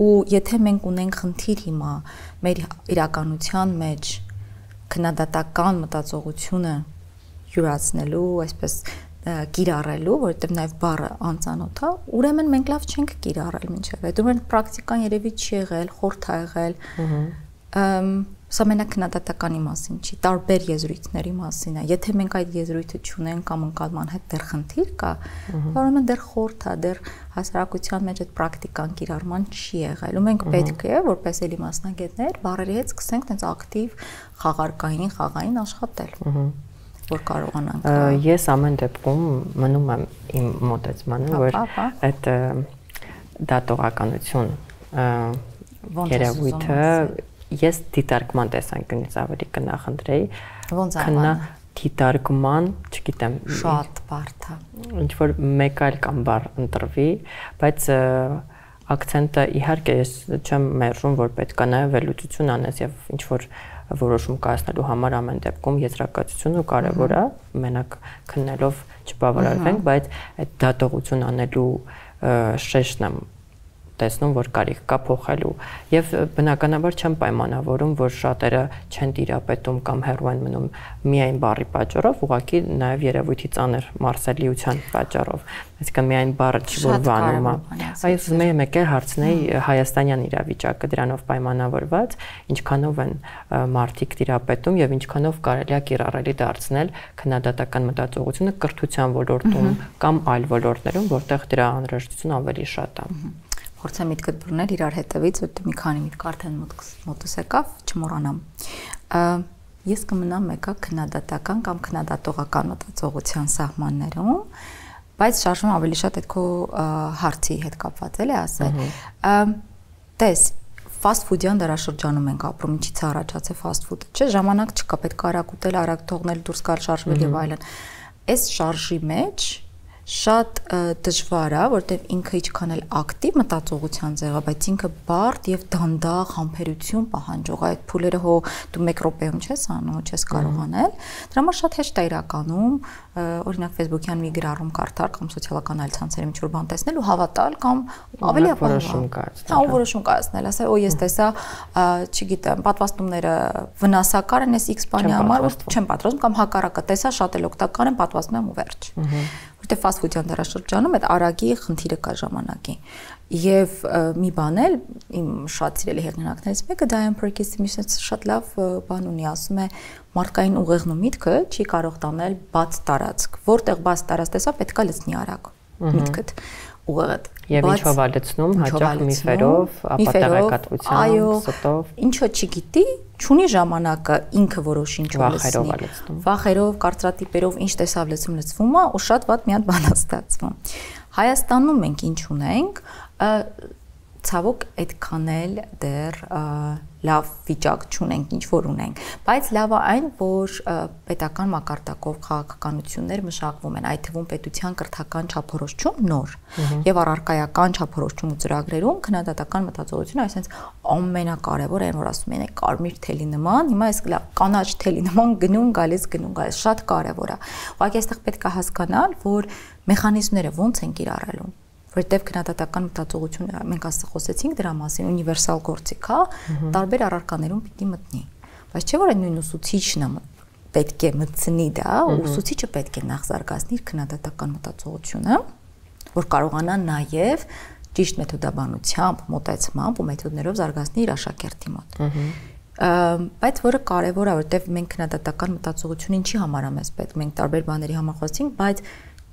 Ու եթե մենք ունենք խնդիր հիմա մեր իրականության մեջ քննադատական մտածողությունը յուրացնելու, այսպես կիրառելու, որովհետև նաև բառը անծանոթ է, ուրեմն մենք լավ չենք կիրառել մինչև այդ, ուրեմն պրակտիկան երևի չի եղել, խորթ է եղել, սա մենակ քննադատականի մասին չի, տարբեր եզրույթների մասին է, եթե մենք այդ եզրույթը չունենք կամ ընկալման հետ դեռ խնդիր կա, ուրեմն դեռ խորթ է, դեռ հասարակության մեջ այդ պրակտիկան կիրառման չի եղել, ու մենք պետք է, որպես էլի մասնագետներ, բառերի հետ սկսենք տենց ակտիվ խաղային աշխատել, որ կարողանանք։ Ես ամեն դեպքում մնում եմ իմ մոտեցմանը, որ այդ դատողականություն երևույթը ես դիտարկման տեսանկյունից ավելի կնախընտրեի, դիտարկման, չգիտեմ, շատ բարդ է։ Ինչ որ մեկ այլ կամ բառ ընտրվի, բայց ակցենտը իհարկե ես չեմ մերժում, որ պետք է նաև վերլուծություն անես եւ ինչ որ որոշում կայացնելու համար ամեն դեպքում եզրակացությունը կարևոր է, մենակ քննելով չբավարարվենք, բայց այդ դատողություն անելու շեշտն եմ տեսնում, որ կարիք կա փոխելու եւ բնականաբար չեմ պայմանավորում, որ շատերը չեն տիրապետում կամ հեռու են մնում միայն բառի պատճառով, ուղղակի նաեւ երևույթի ծանր մարսելիության պատճառով, այսինքն միայն բառը չի որ վանում է։ Այս մեկ է հարցնեի հայաստանյան իրավիճակը դրանով պայմանավորված, ինչքանով են մարդիկ տիրապետում եւ ինչքանով կարելի է կիրառելի դարձնել քննադատական մտածողությունը կրթության ոլորտում կամ այլ ոլորտներում, որտեղ դրա անհրաժեշտությունը ավելի շատ է։ փորձեմ միտքդ բռնել իրար հետևից, որտեղ մի քանի միտք արդեն մոտս եկավ, չմոռանամ։ Ես կմնամ մեկը քննադատական կամ քննադատողական մտածողության սահմաններում, բայց շարժումը ավելի շատ այդ քո հարցի հետ կապված էլի ասել։ Տես, fast food-յան դարաշրջանում ենք ապրում, ինչից է առաջացել fast food-ը, չէ՞, ժամանակ չկա, պետք է արագ ուտել, արագ թողնել, դուրս գալ, շարժվել եւ այլն։ Այս շարժի մեջ շատ դժվար է, որտեղ ինքը ինչքան էլ ակտիվ մտածողության ձև է, բայց ինքը բարդ եւ դանդաղ համբերություն պահանջող է։ Այդ փուլերը հո դու 1 րոպեում չես անում, չես կարող անել։ Դրա համար շատ հեշտ է իրականում, օրինակ Facebook-յան մի գրառում կարդալ կամ սոցիալական այլ ցանցերում ինչ-որ բան տեսնել ու հավատալ կամ ավելի որոշում կայացնել։ Հա, որոշում կայացնել, ասել, օ, ես տեսա, չգիտեմ, պատվաստումները վնասակար են, ես X բանի համար չեմ պատրաստում կամ հակառակը, տեսա շատ էլ օգտակար են, պատվաստում եմ ու վերջ։ Որտեղ fast food-յան դարաշրջանում այդ արագի խնդիրը կա ժամանակի։ Եվ մի բան էլ իմ շատ սիրելի հեղինակներից մեկը Diane Perkins-ի շատ լավ բան ունի, ասում է մարդկային ուղեղն ու միտքը չի կարող տանել բաց տարածք, որտեղ բաց տարածք տեսա պետք է լցնի արագ միտքդ ուղեղդ։ Եվ ինչով է լցնում, հաճախ միֆերով, ապատեղեկատվությամբ, ստով։ Ինչը չգիտի, չունի ժամանակը ինքը որոշ ինչ-որ լցնի։ Վախերով, կարծրատիպերով ինչ տեսավ լցվում է, ու շատ վատ մի հատ բան է ստացվում։ Հայաստանում մենք ինչ ունենք, ցավոք այդքան էլ դեռ լավ վիճակ չունենք, ինչ որ ունենք, բայց լավ է այն, որ պետական մակարդակով քաղաքականություններ մշակվում են, այդ թվում պետության կրթական չափորոշիչում նոր եւ առարկայական չափորոշիչում ու ծրագրերում քննադատական մտածողությունը, այսինքն ամենակարևորը այն, որ ասում են կարմիր թելի նման, հիմա այս կանաչ թելի նման գնում գալիս, շատ կարևոր է։ Ուղղակի այստեղ պետք է հասկանալ, որ մեխանիզմները ոնց են կիրառելու, որտեղ քննադատական մտածողությունը մենք ասած խոսեցինք դրա մասին, ունիվերսալ գործիք է, տարբեր առարկաներում պիտի մտնի։ Բայց չէ՞ որ այն նույն ուսուցիչն է պետք է մտցնի դա, ուսուցիչը պետք է նախ զարգացնի իր քննադատական մտածողությունը, որ կարողանա նաև ճիշտ մեթոդաբանությամբ, մոտեցմամբ ու մեթոդներով զարգացնի իր աշակերտի մոտ։ Բայց որը կարևոր է, որտեղ մենք քննադատական մտածողությունը ինչի համար է մեզ պետք, մենք տարբեր բաների համար խոսեցինք, բայց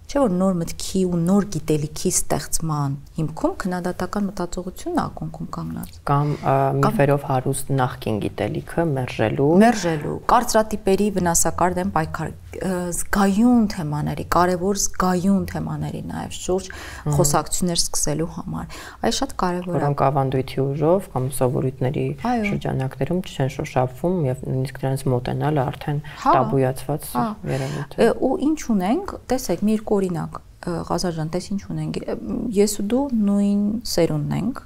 չէ՞ որ նոր մտքի ու նոր գիտելիքի ստեղծման հիմքում քննադատական մտածողությունն ակունքում կանգնած կամ միֆերով հարուստ նախկին գիտելիքը մերժելու կարծրատիպերի վնասակար դեմ պայքար զգայուն թեմաների, կարևոր զգայուն թեմաների նաև շուրջ խոսակցություններ սկսելու համար։ Այս շատ կարևոր է։ Որոնք ավանդույթի ուժով կամ սովորույթների շրջանակներում չեն շոշափվում եւ նույնիսկ դրանց մոտենալը արդեն տաբույացված երևույթ է։ Ու ինչ ունենք, տեսեք, մի երկու օրինակ, Ղազար ջան, տես ինչ ունենք։ Ես ու դու նույն սերունդն ենք։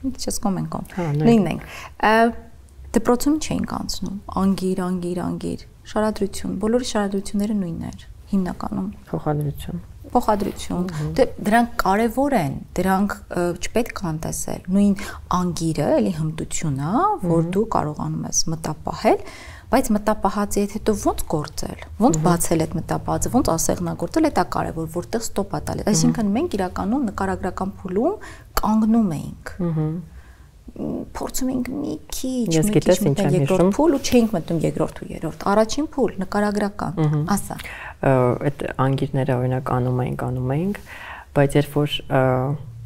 Մի քիչ սկոմ ենք ում։ Նույնն ենք։ Դպրոցում չէինք անցնում։ Անգիր շարադրություն, բոլորի շարադրությունները նույնն էր, հիմնականում փոխադրություն։ Դրանք կարևոր են, դրանք չպետք է անտեսել։ Նույն անգիրը, էլի հմտությունն է, որ դու կարողանում ես մտապահել, բայց մտապահածի հետ հետո ոնց գործել, ոնց բացել այդ մտապահածը, ոնց ասեղնագործել, դա կարևոր, որտեղ ստոպ է տալիս։ Այսինքն մենք իրականում նկարագրական փուլում կանգնում էինք։ Փորձում ենք մի քիչ երկրորդ փուլ ու չէինք մտնում երկրորդ ու երրորդ։ Առաջին փուլ նկարագրական, ասա։ Այդ անգիրները օրինակ անում էինք, բայց երբ որ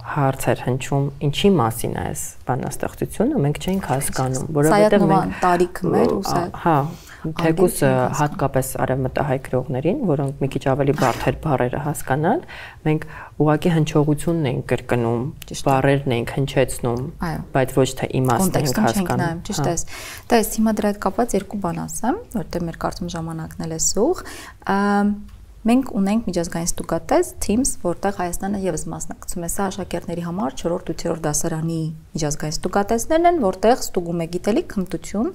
հարց էր հնչում ինչի մասին է այս բանաստեղծությունը, մենք չէինք հասկանում, որովհետև մենք տարիքը մեր ու սա թեկուզ հատկապես արևմտահայ գրողներին, որոնք մի քիչ ավելի բարդ էր բառերը հասկանալ, մենք ուղղակի հնչողությունն ենք կրկնում, բառերն ենք հնչեցնում, բայց ոչ թե իմաստն ենք հասկանում։ Ճիշտ է։ Դες հիմա դրա հետ կապված երկու բան ասեմ, որտեղ մեր կարծում ժամանակն էլ է սուղ։ Մենք ունենք միջազգային ստուգատես Teams, որտեղ Հայաստանը եւս մասնակցում է սա աշակերտների համար 4-րդ 8-րդ դասարանի միջազգային ստուգատեսներն են, որտեղ ստուգում է գիտելիք, հմտություն,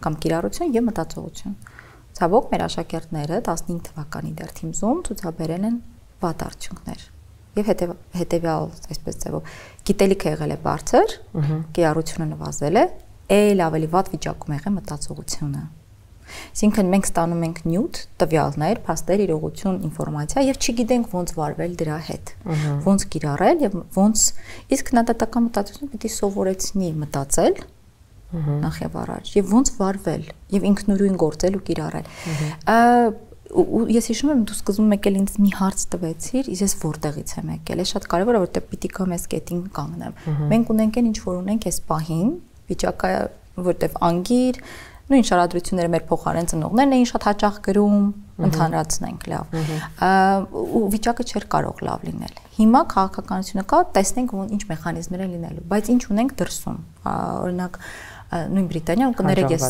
կամ կիրառություն եւ մտածողություն։ Ցավոք մեր աշակերտները 15 թվականի դեռ Teams-ում ցուցաբերել են վատ արդյունքներ։ Եվ հետեւյալ այսպես ձևով գիտելիքը եղել է բարձր, կիրառությունը նվազել է, այլ ավելի վատ վիճակում եղել մտածողությունը։ Այսինքն մենք ստանում ենք նյութ, տվյալներ, փաստեր, իրողություն, ինֆորմացիա եւ չգիտենք ոնց վարվել դրա հետ, ոնց կիրառել եւ ոնց իսկ քննադատական մտածողությունը պիտի սովորեցնի մտածել նախ եւ առաջ եւ ոնց վարվել եւ ինքնուրույն գործել ու կիրառել։ ու ես հիշում եմ դու սկզբում եկել ինձ մի հարց տվեցիր, ես որտեղից եմ եկել։ Է շատ կարևոր է որտեղ պիտի կամ ես կետին կանգնեմ։ Մենք ունենք ինչ որ ունենք այս պահին, վիճակը որտեղ անգիր, նույն շարադրությունները մեր փոխարեն ծնողներն էին շատ հաճախ գրում, ընդհանրացնենք լավ։ Ու վիճակը չէր կարող լավ լինել։ Հիմա քաղաքականությունը կա, տեսնենք ինչ մեխանիզմներ են լինելու, բայց ինչ ունենք դրսում։ Օրինակ նույն Բրիտանիան կներեք ես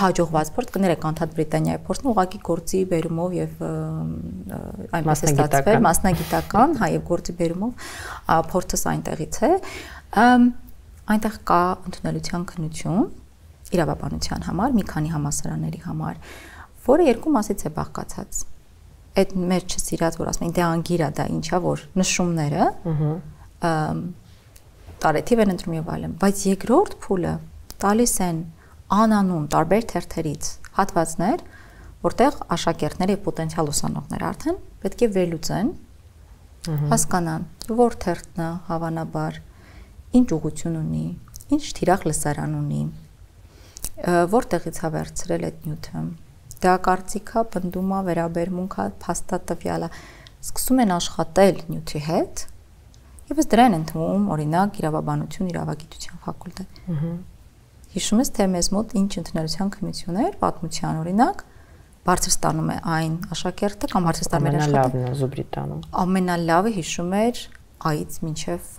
հաջողված փորձ կներեք անդադ Բրիտանիայի փորձն ուղղակի գործի բերումով եւ այնպես է ստացվել մասնագիտական, հա եւ գործի բերումով փորձս այնտեղից է այնտեղ կա ընդունելության քննություն իրավաբանության համար մի քանի համալսարանների համար որը երկու մասից է բաղկացած այդ մեր չսիրած որ ասում են դե անգիր է դա ինչա որ նշումները տարեթիվ են ընտրում եւ այլն բայց երկրորդ փուլը տալիս են անանուն տարբեր թերթերից հատվածներ, որտեղ աշակերտները եւ պոտենցիալ ուսանողները արդեն պետք է վերլուծեն, հասկանան, որ թերթն է հավանաբար, ինչ ուղղություն ունի, ինչ թիրախ լսարան ունի, որտեղից է վերցրել այդ նյութը, դա կարծիքա, պնդումա, վերաբերմունքա, փաստատվյալը, սկսում են աշխատել նյութի հետ, եւ ըստ դրա են ընդունում, օրինակ, իրավաբանություն, իրավագիտության ֆակուլտետ։ Հիշում ես թե մեզ մոտ ինչ ընդունելության քննություններ, պատմության օրինակ, բարձր ստանում է այն աշակերտը կամ բարձր ստանում է աշխատողը։ Ամենալավն է Զուբրիտանում։ Ամենալավը հիշում էր այից մինչև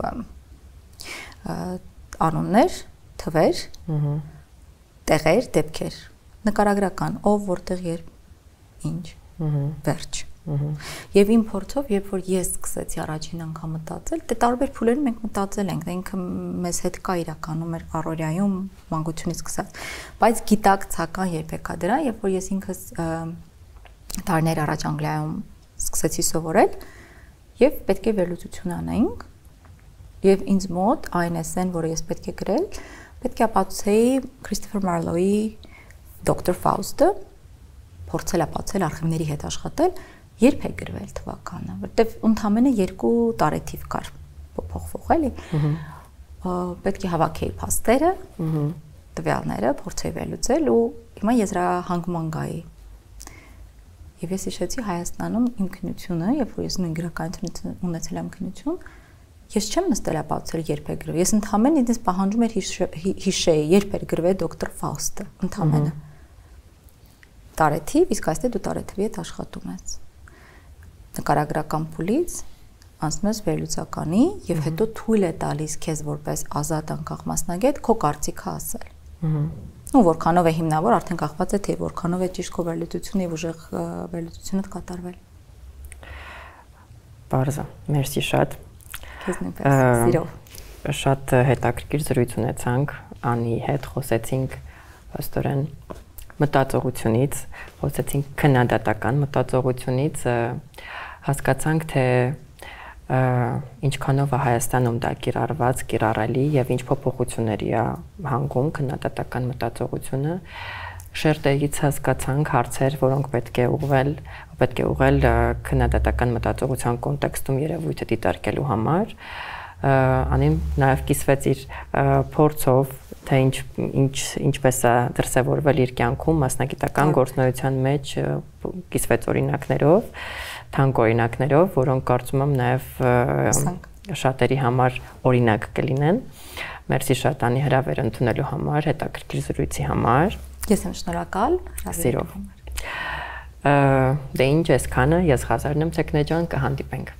անուններ, թվեր, տեղեր, դեպքեր, նկարագրական, ով որտեղ երբ ինչ, վերջ։ Եվ իմ փորձով, երբ որ ես սկսեցի առաջին անգամ մտածել, դե տարբեր փուլերում մենք մտածել ենք, դա ինքը մեզ հետ կա իրականում մեր առօրյայում մանկությունից սկսած, բայց գիտակցական երբեք է դրան, երբ որ ես ինքս տարիներ առաջ Անգլիայում սկսեցի սովորել եւ պետք է վերլուծություն անեինք եւ ինձ մոտ այն էսեն, որը ես պետք է գրել, պետք է ապացուցեի Քրիստոֆեր Մարլոուի Դոկտոր Ֆաուստը, փորձել ապացուցել արխիվների հետ աշխատել երբ է գրվել թվականը, որտեվ ընդամենը 2 տարեթիվ կար փոխվող էլի։ Պետք է հավաքեի փաստերը, տվյալները, փորձեի վերլուծել ու հիմա եզրահանգման գայի։ Եվ ես հիշեցի Հայաստանում իմ քննությունը, երբ որ ես նույն գրականություն ունեցել եմ քննություն, ես չեմ նստել ապացուցել երբ է գրվել։ Ես ընդամենը ինձ պահանջում էր հիշեի երբ է գրվել Դոկտոր Ֆաուստը, ընդամենը։ Տարեթիվ, իսկ այստեղ դու տարեթվի հետ աշխատում ես։ Նկարագրական փուլից անցնում ես վերլուծականի եւ հետո թույլ է տալիս քեզ որպես ազատ անկախ մասնագետ քո կարծիքը ասել։ Ու որքանով է հիմնավոր արդեն կախված է թե որքանով է ճիշտ քո վերլուծությունը եւ ուժեղ վերլուծությունը կատարվել։ Բարձր, մերսի շատ։ Քեզ նույնպես սիրով։ Շատ հետաքրքիր զրույց ունեցանք Անի հետ, խոսեցինք աստորեն մտածողությունից, խոսեցինք քննադատական մտածողությունից, հասկացանք թե ինչքանով է Հայաստանում դա կիրառված, կիրառելի եւ ինչ փոփոխությունների է հանգում քննադատական մտածողությունը, շերտերից հասկացանք հարցեր, որոնք պետք է ուղղել քննադատական մտածողության կոնտեքստում երևույթը դիտարկելու համար, Անին նաև կիսվեց իր փորձով, թե ինչպես է դրսևորվել իր կյանքում մասնագիտական գործունեության մեջ կիսվեց օրինակներով, թանկ օրինակներով, որոնք կարծում եմ նաև շատերի համար օրինակ կլինեն։ Մերսի շատ Անի հրավեր ընդունելու համար, հետաքրքիր զրույցի համար։ Ես եմ շնորհակալ հրավերի համար։ Դե ինչ այսքանը, ես Ղազարն եմ Թեքնեջան, կհանդիպենք։